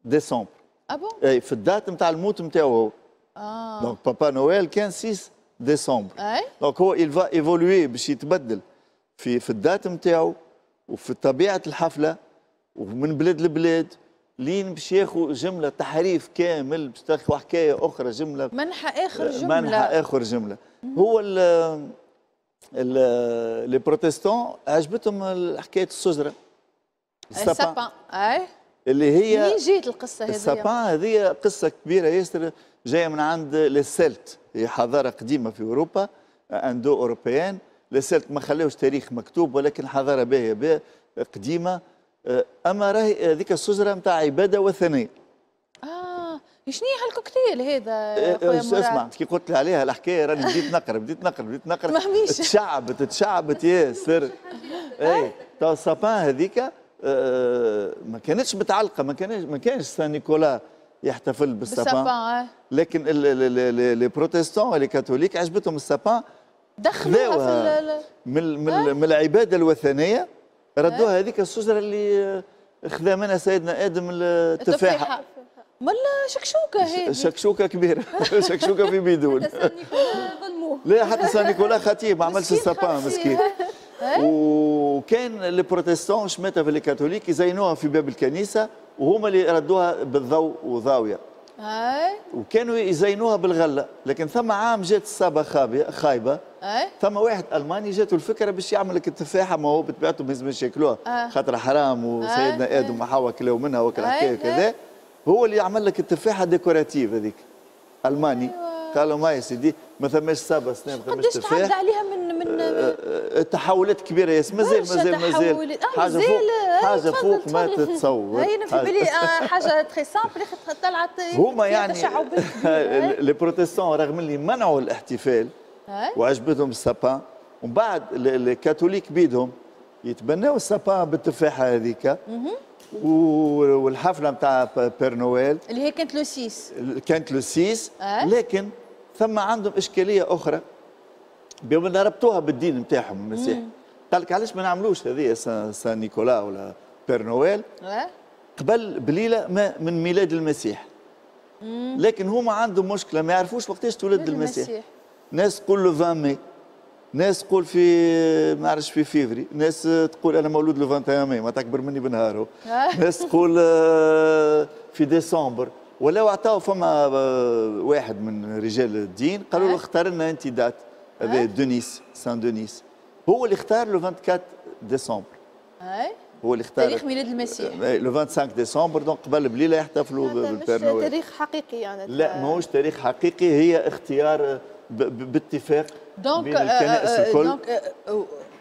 ديسمبر. ah bon؟ اي في ال date نتاع الموت نتاعو هو. اه donc Papa Noël كان ستة ديسمبر. اي donc هو il va évoluer باش يتبدل في في ال date نتاعو وفي طبيعة الحفلة ومن بلاد لبلاد، لين باش ياخذ جملة تحريف كامل، باش تاخذ حكاية اخرى جملة، منحى اخر جملة، منحى اخر جملة. هو ال les protestants عجبتهم حكاية الشجرة ال sapin. اي اللي هي منين جات القصة هذه؟ ال sapin هذه قصة كبيرة ياسر، جاية من عند les Celtes، هي حضارة قديمة في اوروبا، indo-européenne. les Celtes ما خلاوش تاريخ مكتوب، ولكن حضارة باهيه قديمة. اما راهي هذيك الشجرة نتاع عباده وثنية. اه شنو هي هالكوكتيل هذا يا خويا مراد؟ اسمع كي قلت لي عليها الحكاية راني بديت نقرا بديت نقرا بديت نقرا ما تشعبت تشعبت ياسر. اي تو ال sapin هذيك آه ما كانتش متعلقه، ما كانش ما كانش Saint Nicolas يحتفل بال sapin، لكن les protestants les catholiques عجبتهم ال sapin، دخلوها في من من, من العبادة الوثنية، ردوها هذيك الشجرة اللي خذا منها سيدنا ادم التفاحة. ملا شكشوكه هذه، شكشوكه كبيرة شكشوكه في بيدون. لا حتى Saint Nicolas خطيب ما عملش ال sapin مسكين. وكان les protestants شماتها في les catholiques يزينوها في باب الكنيسة، وهما اللي ردوها بالضوء وضاويه. اي وكانوا يزينوها بالغله، لكن ثم عام جات الصابه خايبة. اي ثم واحد الماني جاته الفكرة باش يعمل لك التفاحة، ما هو بطبيعته ما يلزمش ياكلوها خاطر حرام، وسيدنا ادم وحواء كلاو منها وكل حكاية وكذا. هو اللي عمل لك التفاحة décorative هذيك، الماني. أيوة. قالوا ما يا سيدي ما ثماش صابه سنة، ما ثماش تفاح. قداش تعدى عليها من من أه تحولات كبيرة ياسر، مازال مازال مازال حاجة فوق حاجة فوق ما تتصور. هي في بالي حاجة très simple طلعت هما يعني les protestants رغم اللي منعوا الاحتفال وعجبتهم ال sapin، ومن بعد les catholiques بيدهم يتبناو ال sapin بالتفاحه هذيك والحفله نتاع Père Noël اللي هي كانت le ستة، كانت le ستة. لكن ثم عندهم اشكالية اخرى بما ربطوها بالدين نتاعهم المسيحي. قال لك علاش ما نعملوش هذه Saint Nicolas ولا Père Noël قبل بليلة ما من ميلاد المسيح. مم. لكن هما عندهم مشكلة، ما يعرفوش وقتاش تولد المسيح. المسيح. ناس تقول le عشرين ماي، ناس تقول في ما نعرفش في فيفري، ناس تقول انا مولود le واحد وعشرين ماي، ما تكبر مني بنهاره. ناس تقول في ديسمبر. ولاو عطاو فما واحد من رجال الدين قالوا له اختار لنا انت date، هذا دونيس Saint Denis، هو اللي اختار le أربعة وعشرين ديسمبر. هو اللي اختار تاريخ ميلاد المسيح le خمسة وعشرين ديسمبر، donc قبل بليلة يحتفلوا بال Père Noël. مش تاريخ حقيقي يعني؟ لا ماهوش تاريخ حقيقي، هي اختيار باتفاق donc بين الكنائس الكل. donc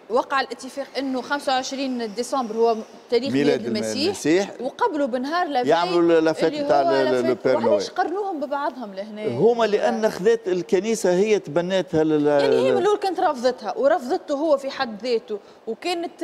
وقع الاتفاق انه خمسة وعشرين ديسمبر هو تاريخ ميلاد المسيح, المسيح وقبلوا بنهار la veille يعملوا la fête نتاع le Père Noël. علاش قرنوهم ببعضهم لهنا؟ هما لان خذات الكنيسة هي تبناتها لل... يعني هي من الاول كانت رافضتها ورفضته هو في حد ذاته، وكانت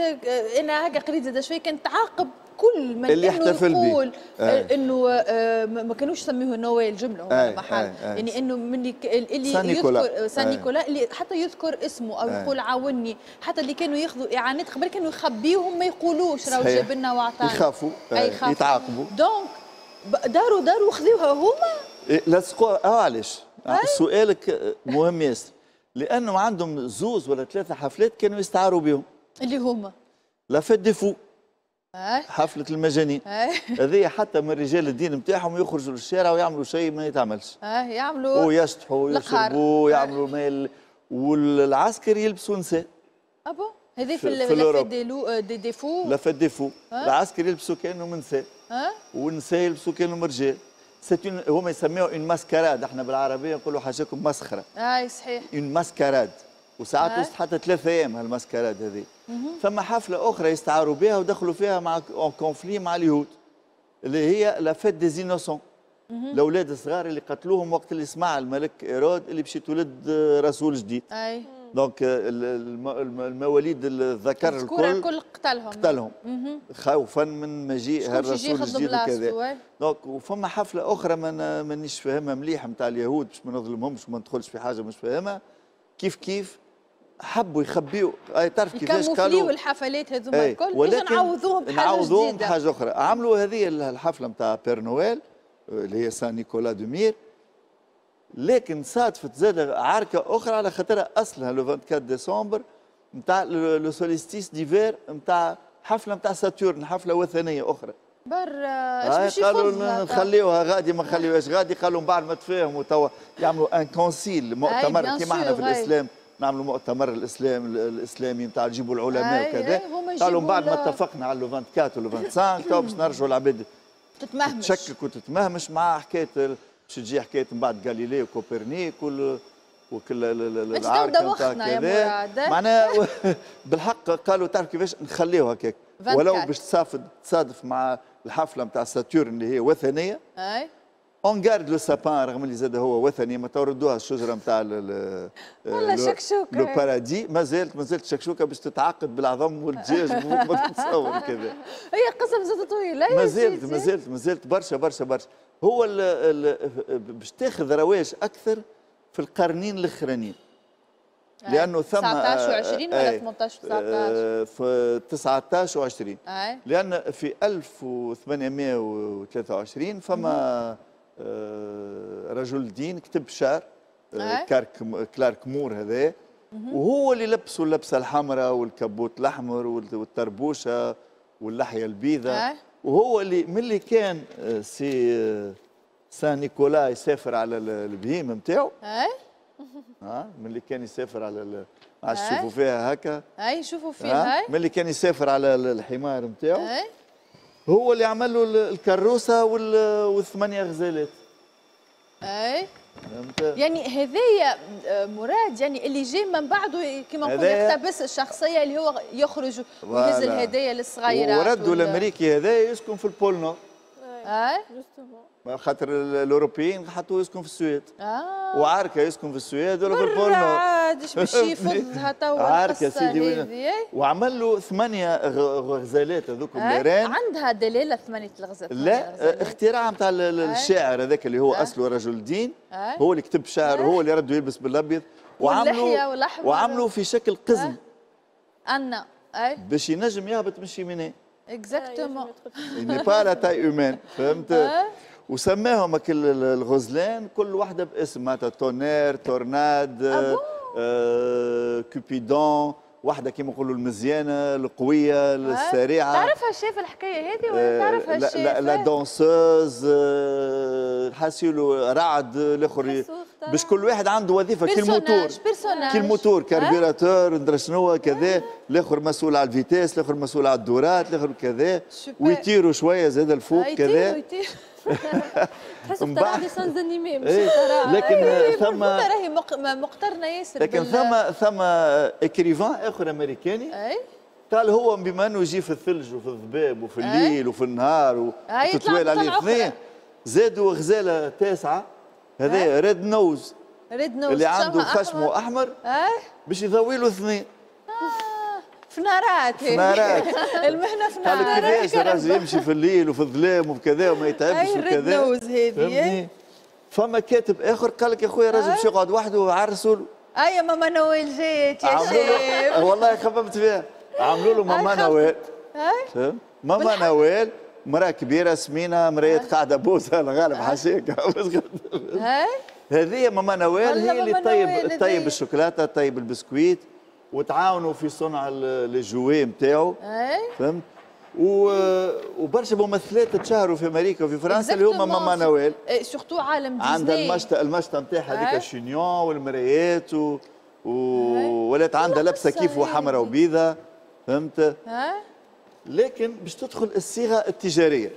انا هكا قريت زاد شوية كانت تعاقب كل من اللي انه يقول آه. انه آه ما كانوش يسميوه نويل جملة هو آه. محل آه. يعني انه من اللي Saint يذكر Saint Nicolas اللي حتى يذكر اسمه او آه. يقول عاوني، حتى اللي كانوا ياخذوا اعانات قبل كانوا يخبيوهم ما يقولوش راهو جاب لنا وعطانا، يخافوا آه. يتعاقبوا. donc داروا داروا خذوها هما لصقوها. اه علاش؟ سؤالك مهم ياسر، لانه عندهم زوز ولا ثلاثة حفلات كانوا يستعاروا بهم اللي هما la fête des fous، حفلة المجانين هذه حتى من رجال الدين نتاعهم يخرجوا للشارع ويعملوا شيء ما يتعملش، اه يعملوا ويشطحوا ويشربوا ويعملوا مال، والعسكر يلبسوا نساء. ah bon هذه في la fête des loups des des fous، la fête des fous العسكر يلبسوا كانهم نساء والنساء يلبسوا كانهم رجال. c'est une، هما يسميوها une mascarade، احنا بالعربية نقولوا حاجاكم مسخره. اي صحيح، une mascarade، وساعات وصلت حتى ثلاثة ايام هال mascarade هذه. ثم حفلة اخرى يستعاروا بها ودخلوا فيها مع en conflit مع اليهود، اللي هي la fête des innocents، الاولاد الصغار اللي قتلوهم وقت اللي سمع الملك ايرود اللي باش يتولد رسول جديد. اي donc المواليد الذكر الكل الكل قتلهم قتلهم خوفا من مجيء هالرسول الجديد وكذا. donc وفما حفلة اخرى ما مانيش فاهمها مليح نتاع اليهود، باش ما نظلمهمش وما ندخلش في حاجة مش فاهمها. كيف كيف حبوا يخبيوا، اي تعرف كيفاش قالوا الحفلات هذوما الكل، ولكن نعوضوهم بحاجة نعوضوهم بحاجة اخرى. عملوا هذه الحفلة نتاع Père Noël اللي هي Saint-Nicolas de Myre، لكن صادفت زاد عركة اخرى على خاطرها اصلها le أربعة وعشرين ديسمبر نتاع le solstice d'hiver، نتاع حفلة نتاع Saturne، حفلة وثنية اخرى. بر اش باش قالوا نخليوها غادي، ما نخليوهاش غادي. قالوا من بعد ما تفاهموا توا يعملوا un concile، مؤتمر كيما احنا في الاسلام نعملوا مؤتمر الاسلام الاسلامي نتاع نجيبوا العلماء وكذا. قالوا من بعد ما اتفقنا على le أربعة وعشرين و le خمسة وعشرين تو باش نرجعوا العباد تتمهمش، تشكك وتتمهمش مع حكاية باش تجي حكاية من بعد غاليليو وكوبرنيك وال وكل العركه نتاع كذا. معناها بالحق قالوا تعرف كيفاش نخليوها هكاك، ولو باش تصادف تصادف مع الحفلة نتاع Saturne اللي هي وثنيه. اي on garde le sapin، رغم اللي زاد هو وثني، ما توردوها الشجرة نتاع والله شكشوكه le paradis، ما زالت ما زالت شكشوكه باش تتعقد بالعظم والدجاج ما تتصور كذا. هي قصة مازالت طويله. ما زالت ما زالت ما زالت برشا برشا برشا. هو باش تاخذ رواج اكثر في القرنين الاخرانيين، لانه ثم تسعطاش وعشرين ولا ثمنطاش وتسعطاش؟ في تسعطاش وعشرين، لان في ألف وثمانمية وثلاثة وعشرين فما آه، رجل دين كتب شعر، آه، كارك كلارك مور هذا، وهو اللي لبسوا اللبسه الحمراء والكبوت الاحمر والتربوشه واللحية البيضاء، وهو اللي من اللي كان آه، سي Saint Nicolas يسافر على البهيم نتاعو. اي ها من اللي كان يسافر على، عادش تشوفوا فيها هكا. اي شوفوا فيها. من اللي كان يسافر على الحمار نتاعو، هو اللي عمل له الكروسه والثمانية غزالات. اي يعني هذايا آه، مراد، يعني اللي جاي من بعده كما نقول يقتبس الشخصية اللي هو يخرج ويهز الهدايا للصغيرات. وردوا الامريكي هذا يسكن في ال pôle Nord. اي خاطر الاوروبيين حطوه يسكن في السويد. اه وعركه يسكن في السويد ولا في ال pôle Nord. عاد باش يفضها توا. عركة سيدي، وعمل له ثمانية غزالات هذوك les rennes. عندها دلالة ثمانية الغزالات؟ لا، اختراع نتاع الشاعر هذاك اللي هو اصله رجل دين، هو اللي كتب شعر، هو اللي رده يلبس بالابيض، وعملوا وعملوا في شكل قزم. أنا اي باش ينجم يهبط من ال cheminée. exactement. n'est pas la taille humaine، فهمت؟ وسماهم الغزلان كل واحدة باسم، معناتها Tonnerre، Tornade، آه Cupidon، واحدة كيما نقولوا المزيانه، القويه، السريعه. تعرفها الشيف الحكاية هذه ولا تعرفها الشيف؟ لا la danseuse، حاسيلو رعد الاخر، باش كل واحد عنده وظيفة كي الموتور، كي ال moteur carburateur ندري شنو كذا، الاخر مسؤول على ال vitesse، الاخر مسؤول على الدورات، الاخر كذا، ويطيروا شوية زاد الفوق كذا. تحس ترى dessins animés مش إيه، لكن ثم راهي مقترنة ياسر. لكن ثم ثم écrivain اخر امريكاني اي قال هو بما انه يجي في الثلج وفي الضباب وفي الليل وفي النهار وتتوالى عليه اثنين، زادوا غزاله تاسعه، هذا Red Nose. Red Nose. اللي عنده خشمه احمر باش يضوي له اثنين. فنارات. فنارات. المهنة فنارات. قال كيفاش الراجل يمشي في الليل وفي الظلام وكذا وما يتعبش وكذا. Red Nose هذه. فما كاتب اخر قال لك يا خويا الراجل باش يقعد وحده وعرسوا له. اي ماما نويل جات يا شيف. والله خممت فيها، عملوا له ماما نويل، فهمت؟ ماما نويل مراة كبيرة سمينه، مراية قاعدة بوسه، الغالب حاشيك. هذه ماما نويل هي اللي طيب طيب الشوكولاته، طيب البسكويت، وتعاونوا في صنع les jouets نتاعو، فهمت؟ وبرشا ممثلات تشهروا في امريكا وفي فرنسا اللي هما ماما نويل. surtout عالم ديزني. عندها المشطه المشطه نتاعها هذيك الشينيون والمرايات و... و... ولات عندها لبسه كيف وحمراء وبيضه، فهمت؟ لكن باش تدخل الصيغة التجاريه.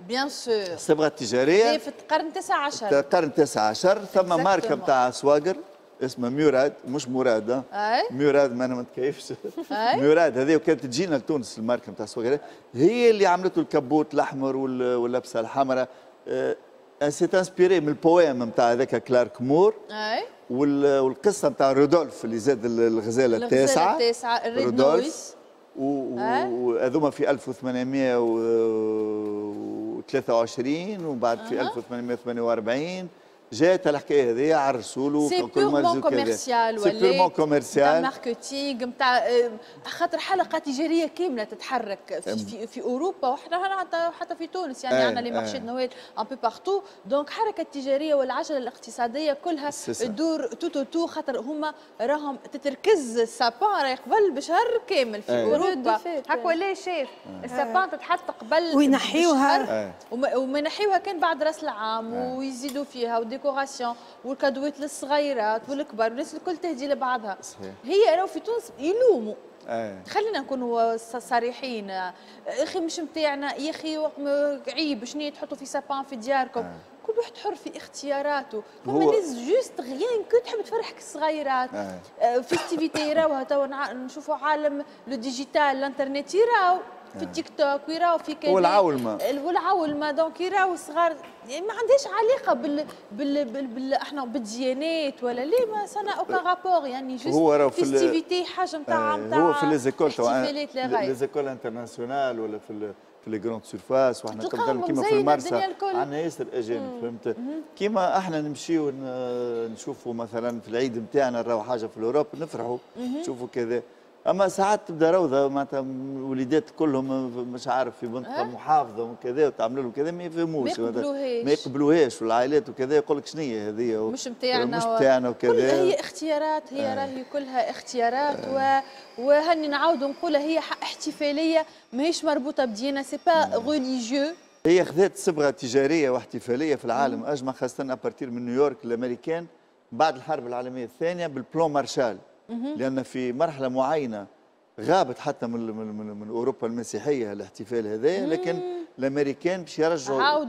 bien sûr الصبغه التجارية في القرن التاسع عشر. القرن التاسع عشر ثم ماركة نتاع سواقر اسمها ميوراد، مش مراد، ميوراد ما انا ما نتكيفش ميوراد هذه، وكانت تجينا لتونس الماركة نتاع سواقر، هي اللي عملته الكبوت الاحمر واللبسه الحمراء. s'est inspirée من ال poème نتاع هذاك كلارك مور، اي والقصه نتاع رودولف اللي زاد الغزالة التاسعة، التاسعة رودولف، وهذوما في ألف وثمانمائة وثلاثة وعشرين وبعد في ألف وثمانمائة وثمانية وأربعين جات الحكاية هذه عرسوا له. c'est purement commercial، c'est purement commercial نتاع marketing نتاع خاطر حلقة تجارية كاملة تتحرك في, في, في اوروبا وحنا حتى في تونس، يعني عندنا les marchés de Noël un peu partout. donc الحركة التجارية والعجلة الاقتصادية كلها تدور tout autour، خاطر هما راهم تتركز ال sapin راهي قبل بشهر كامل في اوروبا. هاك ولا شايف ال sapin تتحط قبل وينحيوها، وما ينحيوها كان بعد راس العام، ويزيدوا فيها décoration والكادوات للصغيرات والكبار والناس الكل تهدي لبعضها. صحيح. هي راهو في تونس يلوموا. أيه. خلينا نكونوا صريحين، اخي مش نتاعنا يا اخي عيب شنو تحطوا في sapin في دياركم. أيه. كل واحد حر في اختياراته، فما ناس juste rien que تحب تفرحك الصغيرات. أيه. festivités يراوها توا، نشوفوا عالم le digital الانترنت يراو في التيك توك ويراو في كذا والعولمه والعولمه donc يراو الصغار، يعني ما عندهاش علاقة بال بال, بال, بال احنا بالديانات ولا ليه، ما ça n'a aucun rapport، يعني juste festivité حاجة نتاع نتاع هو في les écoles les écoles internationales ولا في في les grandes surfaces، وحنا مثلا كيما في المرسى عندنا ياسر اجانب، فهمت؟ كيما احنا نمشيو نشوفوا مثلا في العيد نتاعنا نراو حاجة في l'Europe نفرحوا نشوفوا كذا، اما ساعات تبدا روضة معناتها وليدات كلهم مش عارف في منطقة أه؟ محافظة وكذا وتعمل لهم كذا ما يفهموش، ما يقبلوهاش، والعائلات وكذا يقول لك شنو هي هذه مش نتاعنا مش نتاعنا وكذا. كل هي اختيارات، هي راهي كلها اختيارات. أه. و وهني نعاودوا نقولها هي احتفالية ماهيش مربوطة بدينا، c'est pas religieux. هي خذت صبغة تجارية واحتفاليه في العالم اجمع، خاصة à partir من نيويورك الامريكان بعد الحرب العالمية الثانية بال plan Marshall، لأن في مرحلة معينة غابت حتى من من من أوروبا المسيحية الاحتفال هذا، لكن الأمريكان باش يرجعوا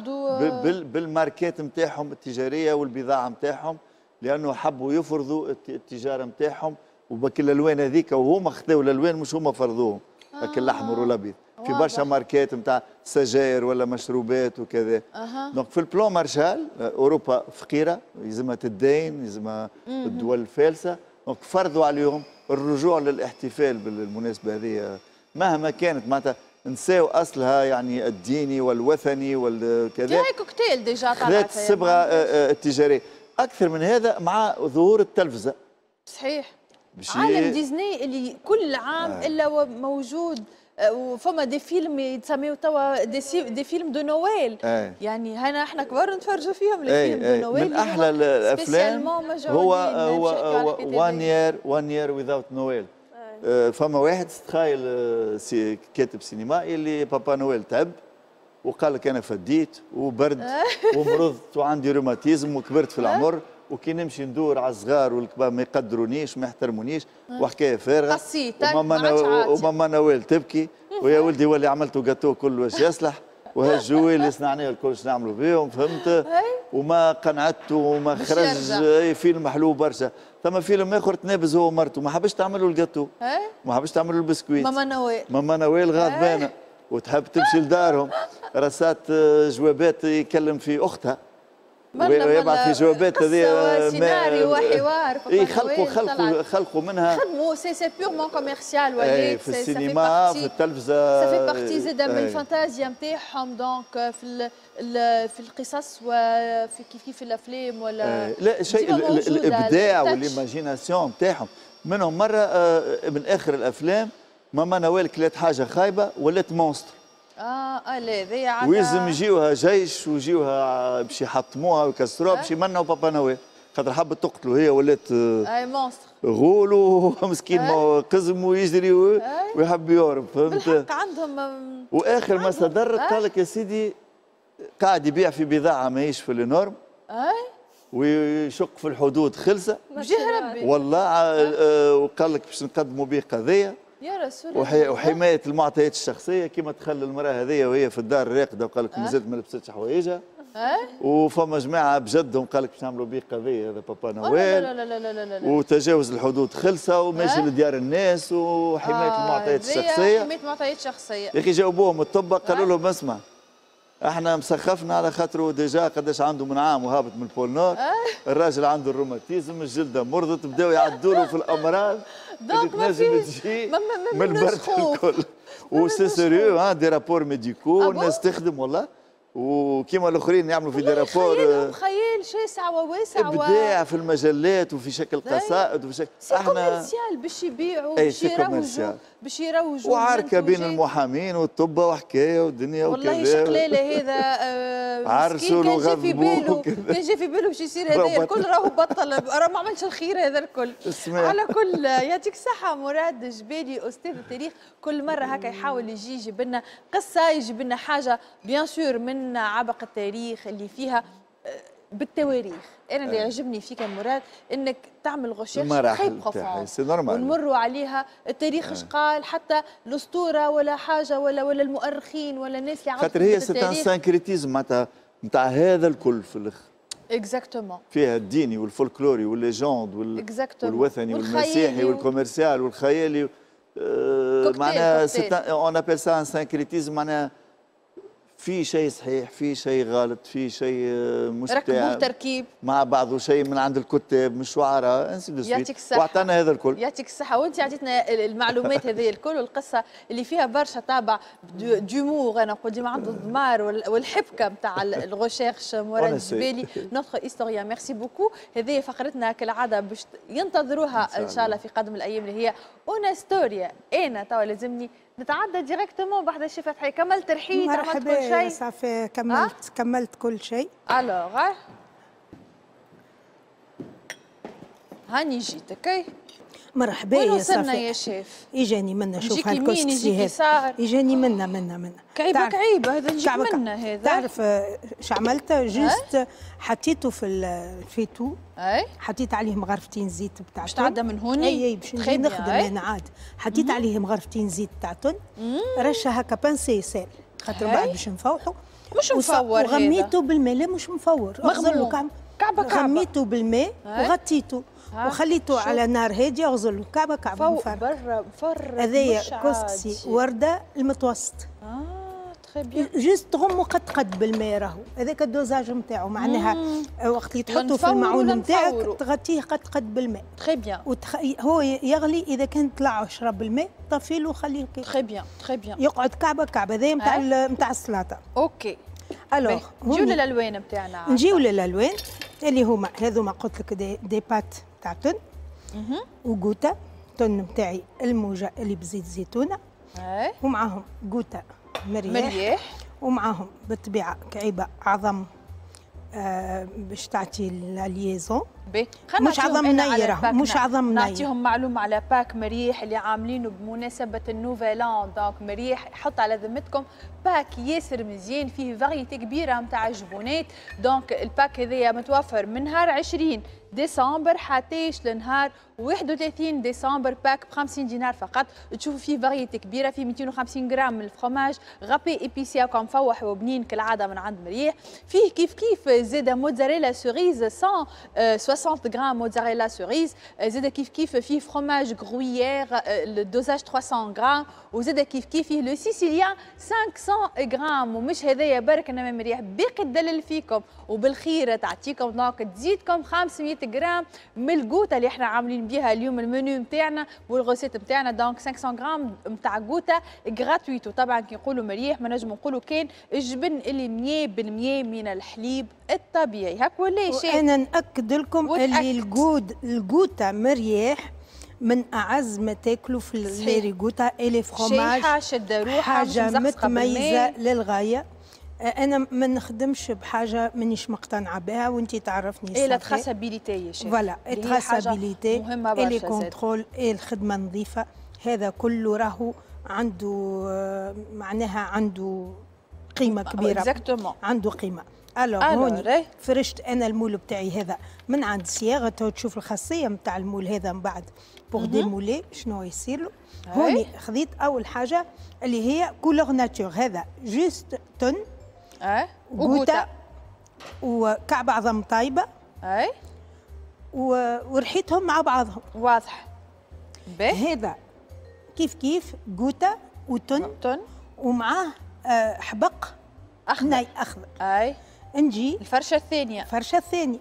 بالماركات نتاعهم التجارية والبضاعة نتاعهم، لأنه حبوا يفرضوا التجارة نتاعهم وبكل الألوان هذيك، وهما خذوا الألوان مش هما فرضوهم، آه. الأحمر والأبيض في برشا ماركات نتاع سجاير ولا مشروبات وكذا. أه. donc في ال plan Marshall أوروبا فقيرة يلزمها تدين، يلزمها الدول الفالسة، donc فرضوا عليهم الرجوع للاحتفال بالمناسبة هذه مهما كانت، معناتها نساو أصلها يعني الديني والوثني والكذا. هاي cocktail déjà طلعت خذت الصبغة التجارية. أكثر من هذا مع ظهور التلفزة. صحيح. عالم ديزني اللي كل عام آه. إلا موجود، وفما des films يتسميو توا des, des films de Noël. آه. يعني هنا احنا كبار نتفرجوا فيهم les films de Noël. من احلى الافلام هو هو One Year One Year Without Noël. فما واحد تخيل سي كاتب سينمائي اللي Papa Noël تعب وقال لك انا فديت وبرد ومرضت وعندي روماتيزم وكبرت في العمر، وكي نمشي ندور على الصغار والكبار ما يقدرونيش وما يحترمونيش وحكاية فارغة، وماما وماما نويل تبكي ويا ولدي واللي عملته جاتو كله واش يصلح، وهال jouets اللي صنعناه الكل باش نعملوا بيهم، فهمت؟ وما قنعته وما خرج فيلم حلو برشا. ثم فيلم اخر تنابز هو ومرته، ما حبش تعملوا الجاتو، ما حبش تعملوا البسكويت، ماما نويل ماما نويل غاضبانه وتحب تمشي لدارهم، رسات جوابات يكلم في اختها ويبعث في جوابات هذه سيناريو وحوار. اي خلقوا خلقوا خلقوا منها، خدموا c'est c'est purement commercial ولات في السينما في التلفزة، ça fait partie زاده من الفانتازيا نتاعهم. donc في في القصص وفي كيف كيف الافلام ولا لا شيء، الابداع وال imagination نتاعهم. منهم مرة من اخر الافلام ماما نوال كلات حاجة خايبة ولات monstre. اه اه لا ذي ويلزم يجيوها جيش ويجيوها باش يحطموها ويكسروها باش يمنعوا Papa Noël، خاطر حبت تقتلوا هي ولات اي monstre غول ومسكين قزم ويجري ويحب يهرب، فهمت؟ بالحق عندهم. واخر ما صدر قال لك يا سيدي قاعد يبيع في بضاعة ماهيش في les normes، اي ويشق في الحدود خلسه بجه ربي والله. آه وقال لك باش نقدموا به قضية يا رسول الله. وحي... وحماية المعطيات الشخصية كما تخلي المراة هذيا وهي في الدار راقده وقال لك مازالت ما لبستش حوايجها. أه؟ وفما جماعة بجدهم قال لك باش نعملوا به قضية هذا بابا نويل. لا لا لا لا لا لا. وتجاوز الحدود خلصه وماشي أه؟ لديار الناس وحماية آه المعطيات الشخصية. حماية المعطيات الشخصية. يا اخي جاوبوهم الطب قالوا لهم اسمع احنا مسخفنا على خاطره déjà قداش عنده من عام وهابط من ال pôle Nord. أه؟ الراجل عنده الروماتيزم، الجلدة مرضت، بداو يعدوا له في الامراض اللي تنجم تجي من البرد الكل. و c'est sérieux ها des rapports médicaux الناس تخدم والله، وكيما الاخرين يعملوا في des rapports. خيالهم خيال شاسع وواسع، ابداع في المجلات وفي شكل قصائد وفي شكل احنا commercial باش يبيعوا باش يروجوا باش يروجوا وعركه بين المحامين والطبه وحكاية ودنيا وكذا. والله شقلاله هذا عرسوا كان جا في باله كان جا في باله باش يصير هذا الكل راهو بطل، راه ما عملش الخير هذا الكل. على كل يعطيك الصحة مراد جبالي استاذ التاريخ، كل مرة هكا يحاول يجي يجيب لنا قصة، يجيب لنا حاجة bien sûr من عبق التاريخ اللي فيها بالتواريخ. انا اللي يعجبني فيك يا مراد انك تعمل recherche très profonde ونمروا عليها التاريخ اش قال، حتى الاسطورة ولا حاجة ولا ولا المؤرخين ولا الناس اللي خاطر هي c'est un syncrétisme معناتها نتاع هذا الكل في الاخر. exactement فيها الديني والفولكلوري وال légende وال... والوثني والمسيحي وال commercial والخيالي. آه معناها on appelle ça un syncrétisme، معناها في شيء صحيح، في شيء غلط، في شيء مش ركبوه تركيب مع بعضه، شيء من عند الكتاب من الشعراء ainsi de suite. يعطيك الصحة واعطانا هذا الكل. يعطيك الصحة، وانت عطيتنا المعلومات هذه الكل والقصة اللي فيها برشا طابع d'humour. انا نقول ديما عنده الضمار والحبكة نتاع ال recherche. مراد الجبالي notre historien، merci beaucoup. هذه فقرتنا كالعادة باش ينتظروها ان شاء الله في قادم الايام اللي هي اون ستوريا. انا توا لازمني نتعدى directement بعد الشيف فتحي. كملت رحيت، عملت كل شيء صافي، كملت أه؟ كملت كل شيء. alors هاني جيتك. مرحبا يا صافي. وين وصلنا يا شيف؟ اجاني منا شوف هالكسكسي هذا، اجاني منا منا منا كعيبه كعيبه هذا نجيك منا هذا. تعرف اش عملت؟ juste حطيته في الفيتو، اي حطيت عليه مغرفتين زيت بتاع باش تعدى من هوني. اي اي باش نجي نخدم انا عاد. حطيت عليه مغرفتين زيت تاع تن، رشه هكا pincée sel خاطر بعد باش نفوحوا. مش مفور هذا، وغميته بالماء. لا مش مفور، مغموم كعبه كعبه. غميته بالماء وغطيته وخليته على نار هادية، غزل كعبه كعبه فوق برا مفرق. هذايا كسكسي ورده المتوسط. اه très bien. juste تغمو قد قد بالماء راهو هذاك ال dosage نتاعو، معناها وقت اللي تحطه في المعون نتاعك تغطيه قد قد بالماء. très bien. وتخ... هو يغلي، اذا كان طلع شرب الماء طفي له وخليه très bien très bien، يقعد كعبه كعبه. هذايا نتاع نتاع السلطة. OK alors نجيو للالوان نتاعنا. نجيو للالوان اللي هما هذوما قلت لك des, des pâtes تاع thon وڨوتة thon نتاعي الموجه اللي بزيت زيتونه، ومعاهم ڨوتة مرياح, مرياح. ومعاهم بالطبيعة كعيبه عظم آه باش تعطي la liaison. مش عظم نيره، مش عظم نيره. نعطيهم معلومة على pack مريح اللي عاملينه بمناسبة ال nouvel an. donc مريح حط على ذمتكم pack ياسر مزيان فيه variété كبيرة نتاع جبونات. donc ال pack هذايا متوفر من نهار عشرين ديسمبر حتىش لنهار واحد وثلاثين ديسمبر. pack ب خمسين دينار فقط، تشوفوا فيه variété كبيرة، فيه مئتين وخمسين غرام من ال fromage râpé épicé وكان مفوح وبنين كالعادة من عند مريح. فيه كيف كيف زاده mozzarella cerise مئة وستين غرام mozzarella cerise، زاده كيف كيف فيه fromage gruyère ال dosage ثلاثمئة غرام، وزاده كيف كيف فيه le sicilien خمسمئة غرام. ومش هذايا برك، انما مريح باقي تدلل فيكم وبالخير تعطيكم donc تزيدكم خمسمئة غرام من الڨوتة اللي احنا عاملين بها اليوم المنيو نتاعنا وال recette نتاعنا. donc خمسمئة غرام نتاع ڨوتة gratuite. وطبعا كي نقولوا مريح ما نجم نقولوا كان الجبن اللي مئة بالمئة من الحليب الطبيعي. هاك ولا شيء. انا ناكد لكم اللي الجود ال ڨوتة مريح من اعز ما تاكلوا في les ricotta et les fromages. شيحه شده روحها، حاجة متميزة للغاية. انا ما نخدمش بحاجة مانيش مقتنعة بها، وانت تعرفني. et la traçabilité يا شيخ. voilà traçabilité et les contrôles et الخدمة نظيفة، هذا كله راهو عنده معناها عنده قيمة كبيرة. exactement. عنده قيمة. alors هوني فرشت انا ال moule بتاعي هذا من عند صياغة، تو تشوف الخاصية نتاع ال moule هذا من بعد pour démouler شنو يصير له. هوني خذيت اول حاجة اللي هي couleur nature، هذا juste thon اي وڨوتة وكعب عظم طايبه اي ورحيتهم مع بعضهم. واضح. باهي. هذا كيف كيف ڨوتة و thon thon ومعاه آه حبق اخضر ناي اخضر. اي نجي الفرشة الثانية. الفرشة الثانية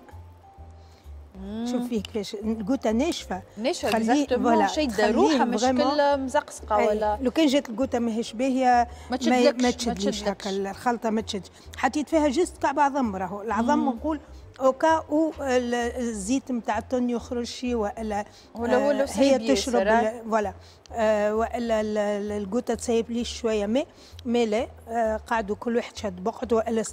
شوف فيه كيفاش ال ڨوتة ناشفة ناشفة exactement، شاده روحها مش كل مزقزقه ولا. لو كان جات ال ڨوتة ماهيش باهيه ما تشدلكش، ما تشدليش هكا الخلطة ما تشدش. حطيت فيها juste كعب عظم، راهو العظم نقول au cas où الزيت نتاع ال thon يخرج شي والا ولا ولا هي تشرب voilà آه والا ال ڨوتة تسيب لي شوية ماء mais لا آه قعدوا كل واحد شاد بقعد، والا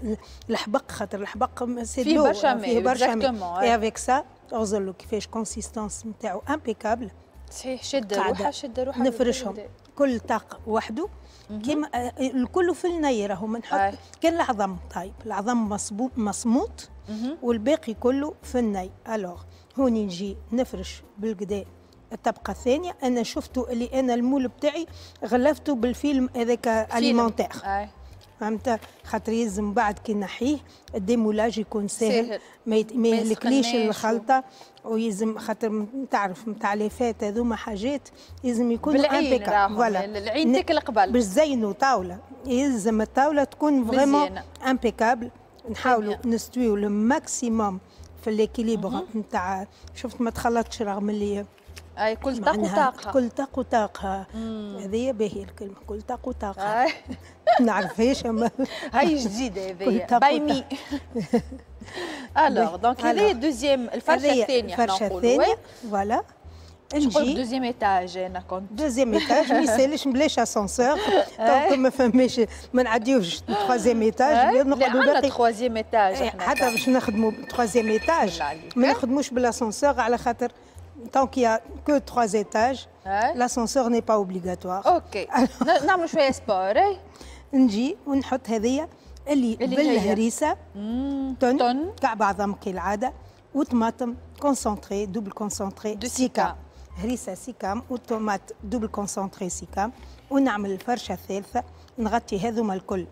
الحبق خاطر الحبق فيه برشا ماء، فيه برشا ماء. et avec ça اغزر كيفاش consistance نتاعو impeccable. صحيح شد روحها شد روحها. نفرشهم كل طاق وحده كيما الكل في الني، راهو ما نحط كان العظم طيب العظم مصموط والباقي كله في الني. alors هوني نجي نفرش بالقدا الطبقة الثانية. انا شفتو اللي انا ال moule بتاعي غلفته بالفيلم هذاك alimentaire، فهمت؟ خاطر يلزم بعد كي نحيه ال démoulage يكون ساهل, ساهل. ما يهلكليش الخلطة، ويلزم خاطر تعرف نتاع les fêtes هذوما حاجات يلزم يكونوا impeccable. voilà العين تاكل قبل باش تزينوا طاولة، يلزم الطاولة تكون vraiment impeccable. نحاولوا نستويو le maximum في l'équilibre نتاع شفت ما تخلطش رغم اللي اي كل طاق وطاقة، كل طاق وطاقة. هذه باهيه الكلمة كل طاق وطاقة نعرفهاش اما هاي جديدة هذه باي مي. alors donc هذه deuxième الفرشة الثانية، الفرشة الثانية voilà. نجي deuxième étage، انا كنت deuxième étage ما يسالش بلاش ascenseur donc ما فماش ما نعديوش troisième étage، نقعدوا باقي troisième étage. حتى باش نخدموا troisième étage ما نخدموش بالاسانسور على خاطر tant qu'il n'y a que trois étages, l'ascenseur n'est pas obligatoire. OK. نعملوا شوية sport. نجي ونحط هذيا اللي, اللي بالهريسه thon, thon. كعب عظم كالعادة وطماطم concentrée double concentrée سيكام، هريسه سيكام و tomate double concentrée سيكام. ونعمل الفرشة الثالثة نغطي هذوما الكل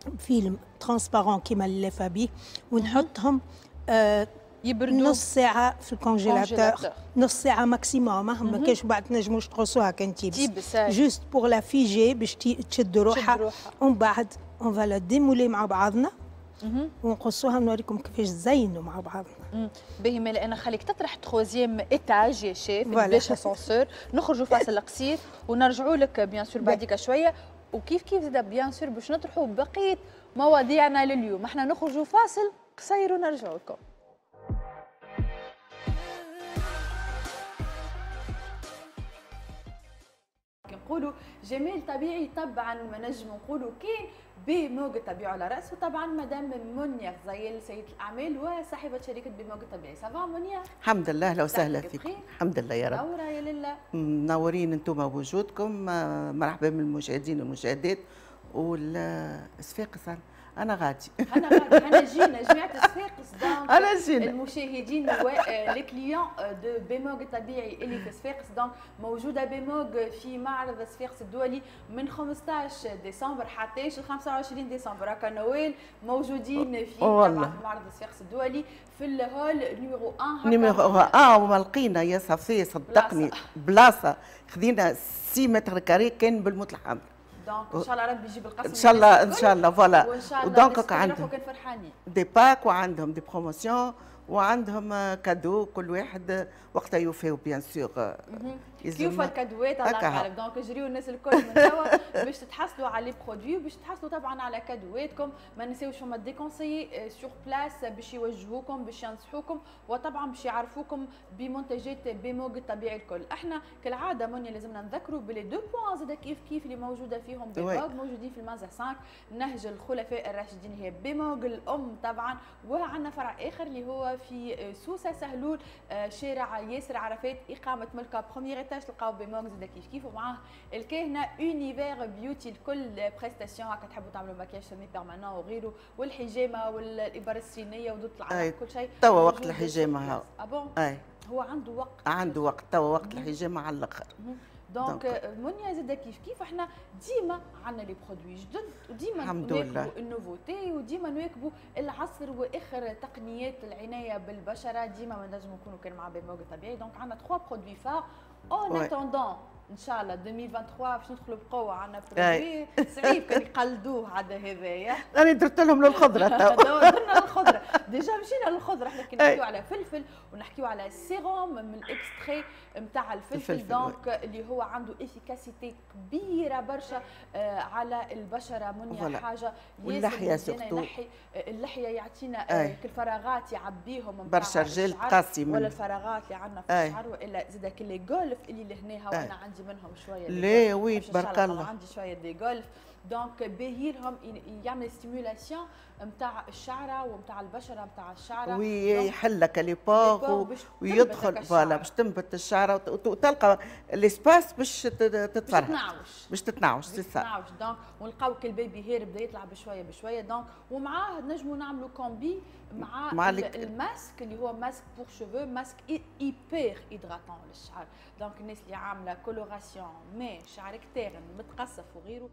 film transparent كيما اللي لافه بيه ونحطهم آه يبردوا نص ساعة في ال congélateur، نص ساعة maximum، ما كاش بعد تنجموش تقصوها كان تيبس، juste pour la figer باش تشد روحها. ومن بعد on va la démouler مع بعضنا ونقصوها نوريكم كيفاش تزينوا مع بعضنا. باهي مالا انا خليك تطرح troisième étage يا شيف بلاش اسانسور، نخرجوا فاصل قصير ونرجعوا لك bien sûr بعديك شوية، وكيف كيف زاد bien sûr باش نطرحوا بقية مواضيعنا لليوم. احنا نخرجوا فاصل قصير ونرجعوا لكم. نقولوا جمال طبيعي طبعا ما نجم نقولوا كان بموج الطبيعي على راسه طبعا مدام منيا غزيل سيده الاعمال وصاحبه شركة بموج الطبيعي. ça va منيا؟ الحمد لله، اهلا وسهلا فيكم. الحمد لله يا رب. منورة يا لله. منورين انتم بوجودكم. مرحبا بالمشاهدين والمشاهدات والصفاقس. أنا غادي أنا غادي أنا جينا جماعة صفاقس donc أنا جينا المشاهدين و les clients de بيموغ الطبيعي اللي في صفاقس. donc موجودة بيموغ في معرض صفاقس الدولي من خمسطاش ديسمبر حتى خمسة وعشرين ديسمبر، هكا نويل موجودين في طبعا في معرض صفاقس الدولي في ال hall numéro واحد. numéro واحد وما لقينا يا صفية صدقني بلاصة، خذينا ستة mètres carrés كان بالموت الحمر. donc ان شاء الله ربي يجيب القسم ان شاء الله ان شاء الله voilà. وان شاء الله و donc عندهم كان فرحانين des packs وعندهم des promotions وعندهم cadeau كل واحد وقتها يوفيو bien sûr كيف الكادوات على القالب. donc جريو الناس الكل من توا باش تتحصلوا على les produits وباش تحصلوا طبعا على كادواتكم. ما نساوش فما des conseillers sur place باش يوجهوكم باش ينصحوكم وطبعا باش يعرفوكم بمنتجات بموج الطبيعي الكل. احنا كالعادة منيا لازمنا نذكروا ب les deux points زاد كيف كيف اللي موجودة فيهم بموج، موجودين في المنزه خمسة نهج الخلفاء الراشدين هي بموج الام طبعا، وعندنا فرع اخر اللي هو في سوسة سهلول شارع ياسر عرفات اقامه ملكه premier étage تلقاو بيموغ زاد كيف كيف، ومعاه الكاهنه Univers Beauty الكل prestations هكا تحبوا تعملوا maquillage semi-permanent وغيره، والحجامه والابر الصينية ودوت العرق كل شيء. توا وقت الحجامة هاو. ah bon؟ اي هو عنده وقت، عنده وقت توا وقت الحجامة على الاخر. donc منيا زاد كيف كيف احنا ديما عندنا les produits جدد، وديما نواكبوا ال nouveautés، وديما نواكبوا العصر واخر تقنيات العناية بالبشره، ديما ما نجموا نكونوا كان مع بيموغ طبيعي. donc عندنا ثلاثة produits phares en attendant ان شاء الله ألفين وثلاثة وعشرين باش ندخلوا بقوة. عندنا produit صعيب كان يقلدوه عاد هذايا. انا درت لهم للخضره تو، درنا للخضره déjà، مشينا للخضره. احنا كي نحكيو على فلفل ونحكيو على سيروم من ال extrait نتاع الفلفل، donc اللي هو عنده efficacité كبيرة برشا على البشرة. منيا حاجة واللحية surtout، ينحي اللحية، يعطينا كل الفراغات يعبيهم برشا رجال قاسي ولا الفراغات اللي عندنا في الشعر، والا زاد كل les golfes اللي لهنا وانا عندي منهم شوية. لا oui تبارك الله عندي شوية des golfes، donc باهي لهم يعمل stimulation نتاع الشعرة ونتاع البشرة نتاع الشعرة، ويحل لك les pores ويدخل voilà باش تنبت الشعرة وتلقى l'espace باش تتفرهد، باش باش تتنعوش c'est ça تتنعوش. donc ونلقاو كل baby hair بدا يطلع بشوية بشوية. donc ومعاه نجموا نعملوا combi مع, مع الماسك اللي هو masque pour cheveux، masque hyper hydratant للشعر. donc الناس اللي عامله coloration mais شعرك تاغن متقصف وغيره.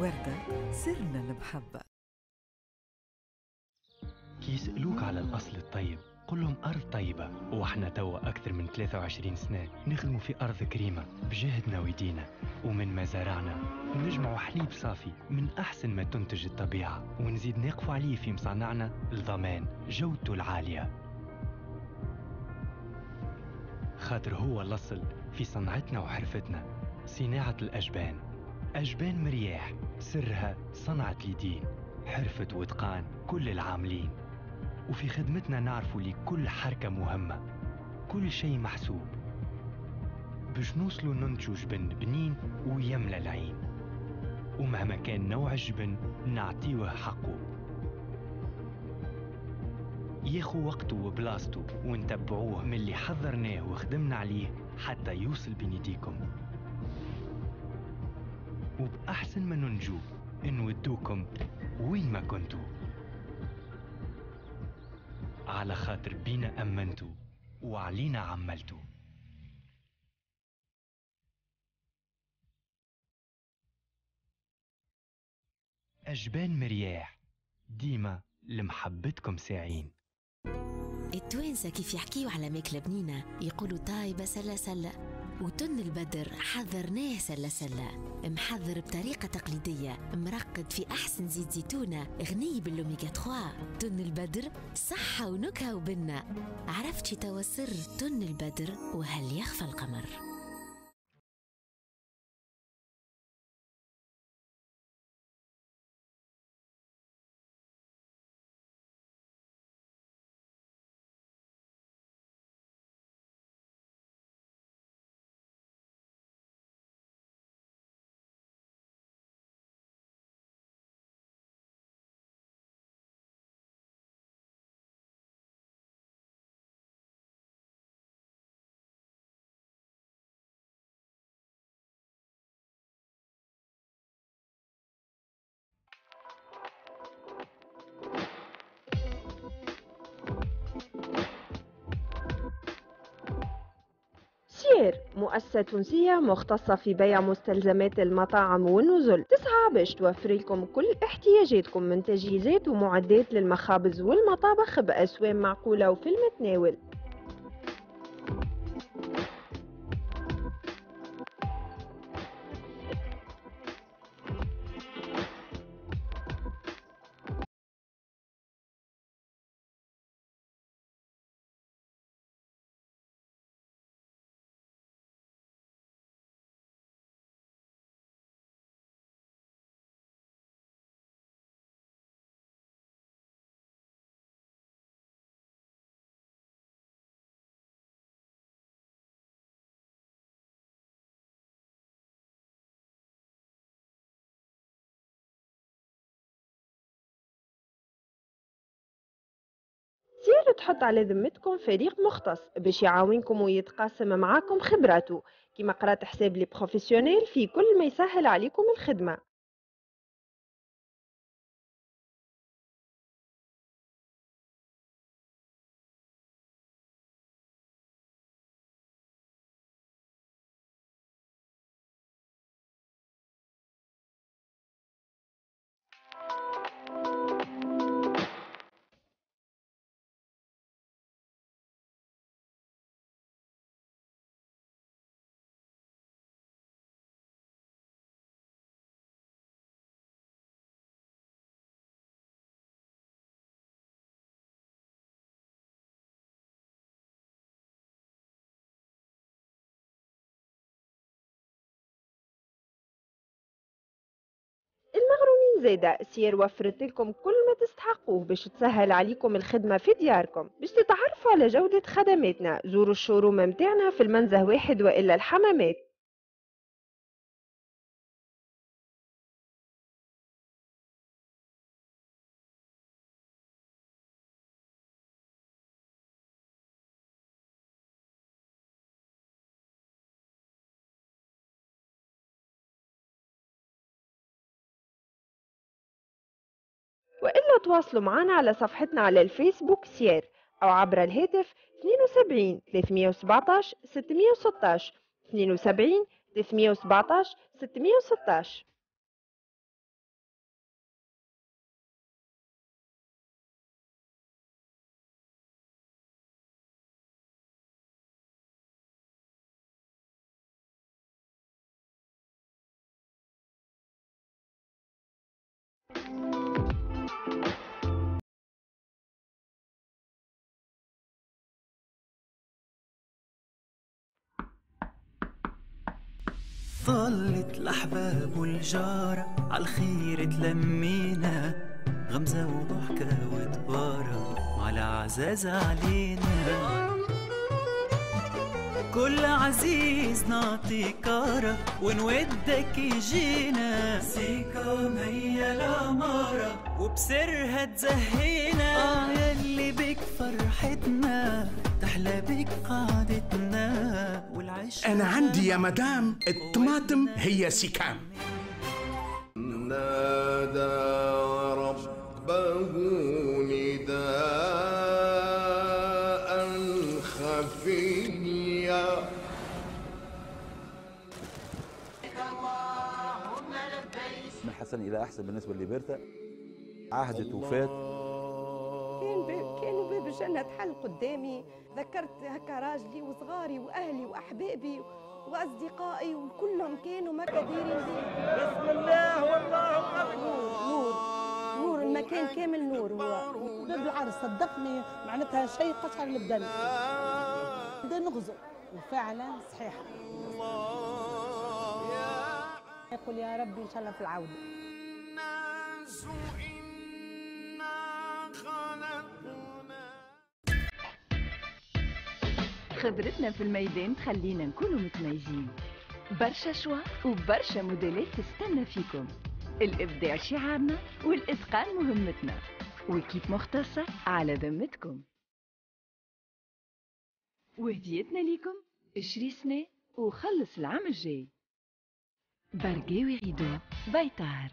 وردة سرنا المحبة. كي يسألوك على الأصل الطيب قل لهم أرض طيبة، وإحنا توا أكثر من ثلاثة وعشرين سنة نخدموا في أرض كريمة بجهدنا ويدينا، ومن مزارعنا نجمعوا حليب صافي من أحسن ما تنتج الطبيعة، ونزيد نقفوا عليه في مصانعنا لضمان جودته العالية، خاطر هو الأصل في صنعتنا وحرفتنا. صناعة الأجبان، أجبان مرياح سرها صنعة اليدين، حرفة وإتقان كل العاملين، وفي خدمتنا نعرفوا لكل حركة مهمة، كل شيء محسوب باش نوصلوا ننتجوا جبن بنين ويملى العين، ومهما كان نوع الجبن نعطيوه حقه، ياخو وقته وبلاصته، ونتبعوه من اللي حضرناه وخدمنا عليه حتى يوصل بين يديكم. وبأحسن ما ننجو نودوكم وين ما كنتو، على خاطر بينا أمنتو وعلينا عملتو. أجبان مرياح ديما لمحبتكم ساعين. التوانسة كيف يحكيوا على ماكلة بنينة يقولوا طايبة سلة سلة، وتن البدر حذرناه سلة سلة، محذر بطريقة تقليدية، مرقد في أحسن زيت زيتونة غني بالأوميغا ثلاثة. تن البدر صحة ونكهة وبنة. عرفتي توا سر تن البدر وهل يخفى القمر؟ سير مؤسسة تونسية مختصة في بيع مستلزمات المطاعم والنزل، تسعى باش توفر لكم كل احتياجاتكم من تجهيزات ومعدات للمخابز والمطابخ بأسوام معقولة وفي المتناول. سير تحط على ذمتكم فريق مختص باش يعاونكم ويتقاسم معاكم خبراته، كما قرات حساب les professionnels في كل ما يسهل عليكم الخدمة. المغرومين زايدة سير وفرت لكم كل ما تستحقوه باش تسهل عليكم الخدمة في دياركم. باش تتعرفوا على جودة خدماتنا زوروا ال showroom متاعنا في المنزه واحد وإلا الحمامات. وإلا تواصلوا معنا على صفحتنا على الفيسبوك سير أو عبر الهاتف اثنين وسبعين ثلاثمية وسبعطاش ستمية وستاش اثنين وسبعين ثلاثمية وسبعطاش ستمية وستاش. طلت الأحباب والجارة عالخير تلمينا، غمزة وضحكة وتبارة وعلى عزاز علينا. كل عزيز نعطي كارة ونودك يجينا، سيكام هي العمارة وبسرها تزهينا. آه يلي بك فرحتنا تحلى بك قعدتنا والعيش. أنا عندي يا مدام الطماطم هي سيكام. نادى ربه نداء خفيا. من حسن إلى أحسن بالنسبة لبرتا. عهدت وفات. كان باب كانوا باب الجنة تحل قدامي، ذكرت هكا راجلي وصغاري وأهلي وأحبابي وأصدقائي وكلهم كانوا ما كديرين بي. بسم الله والله أكبر. نور نور المكان كامل نور. هو باب العرس صدقني معناتها شيء قشعر البدن. بدا نغزو وفعلا صحيحة. يقول يا ربي إن شاء الله في العودة. خبرتنا في الميدان تخلينا نكونوا متميزين. برشا choix وبرشا موديلات تستنى فيكم. الإبداع شعارنا والإتقان مهمتنا، و équipe مختصة على ذمتكم. وهديتنا ليكم اشري سنة وخلص العام الجاي. برقاوي rideaux بيطار.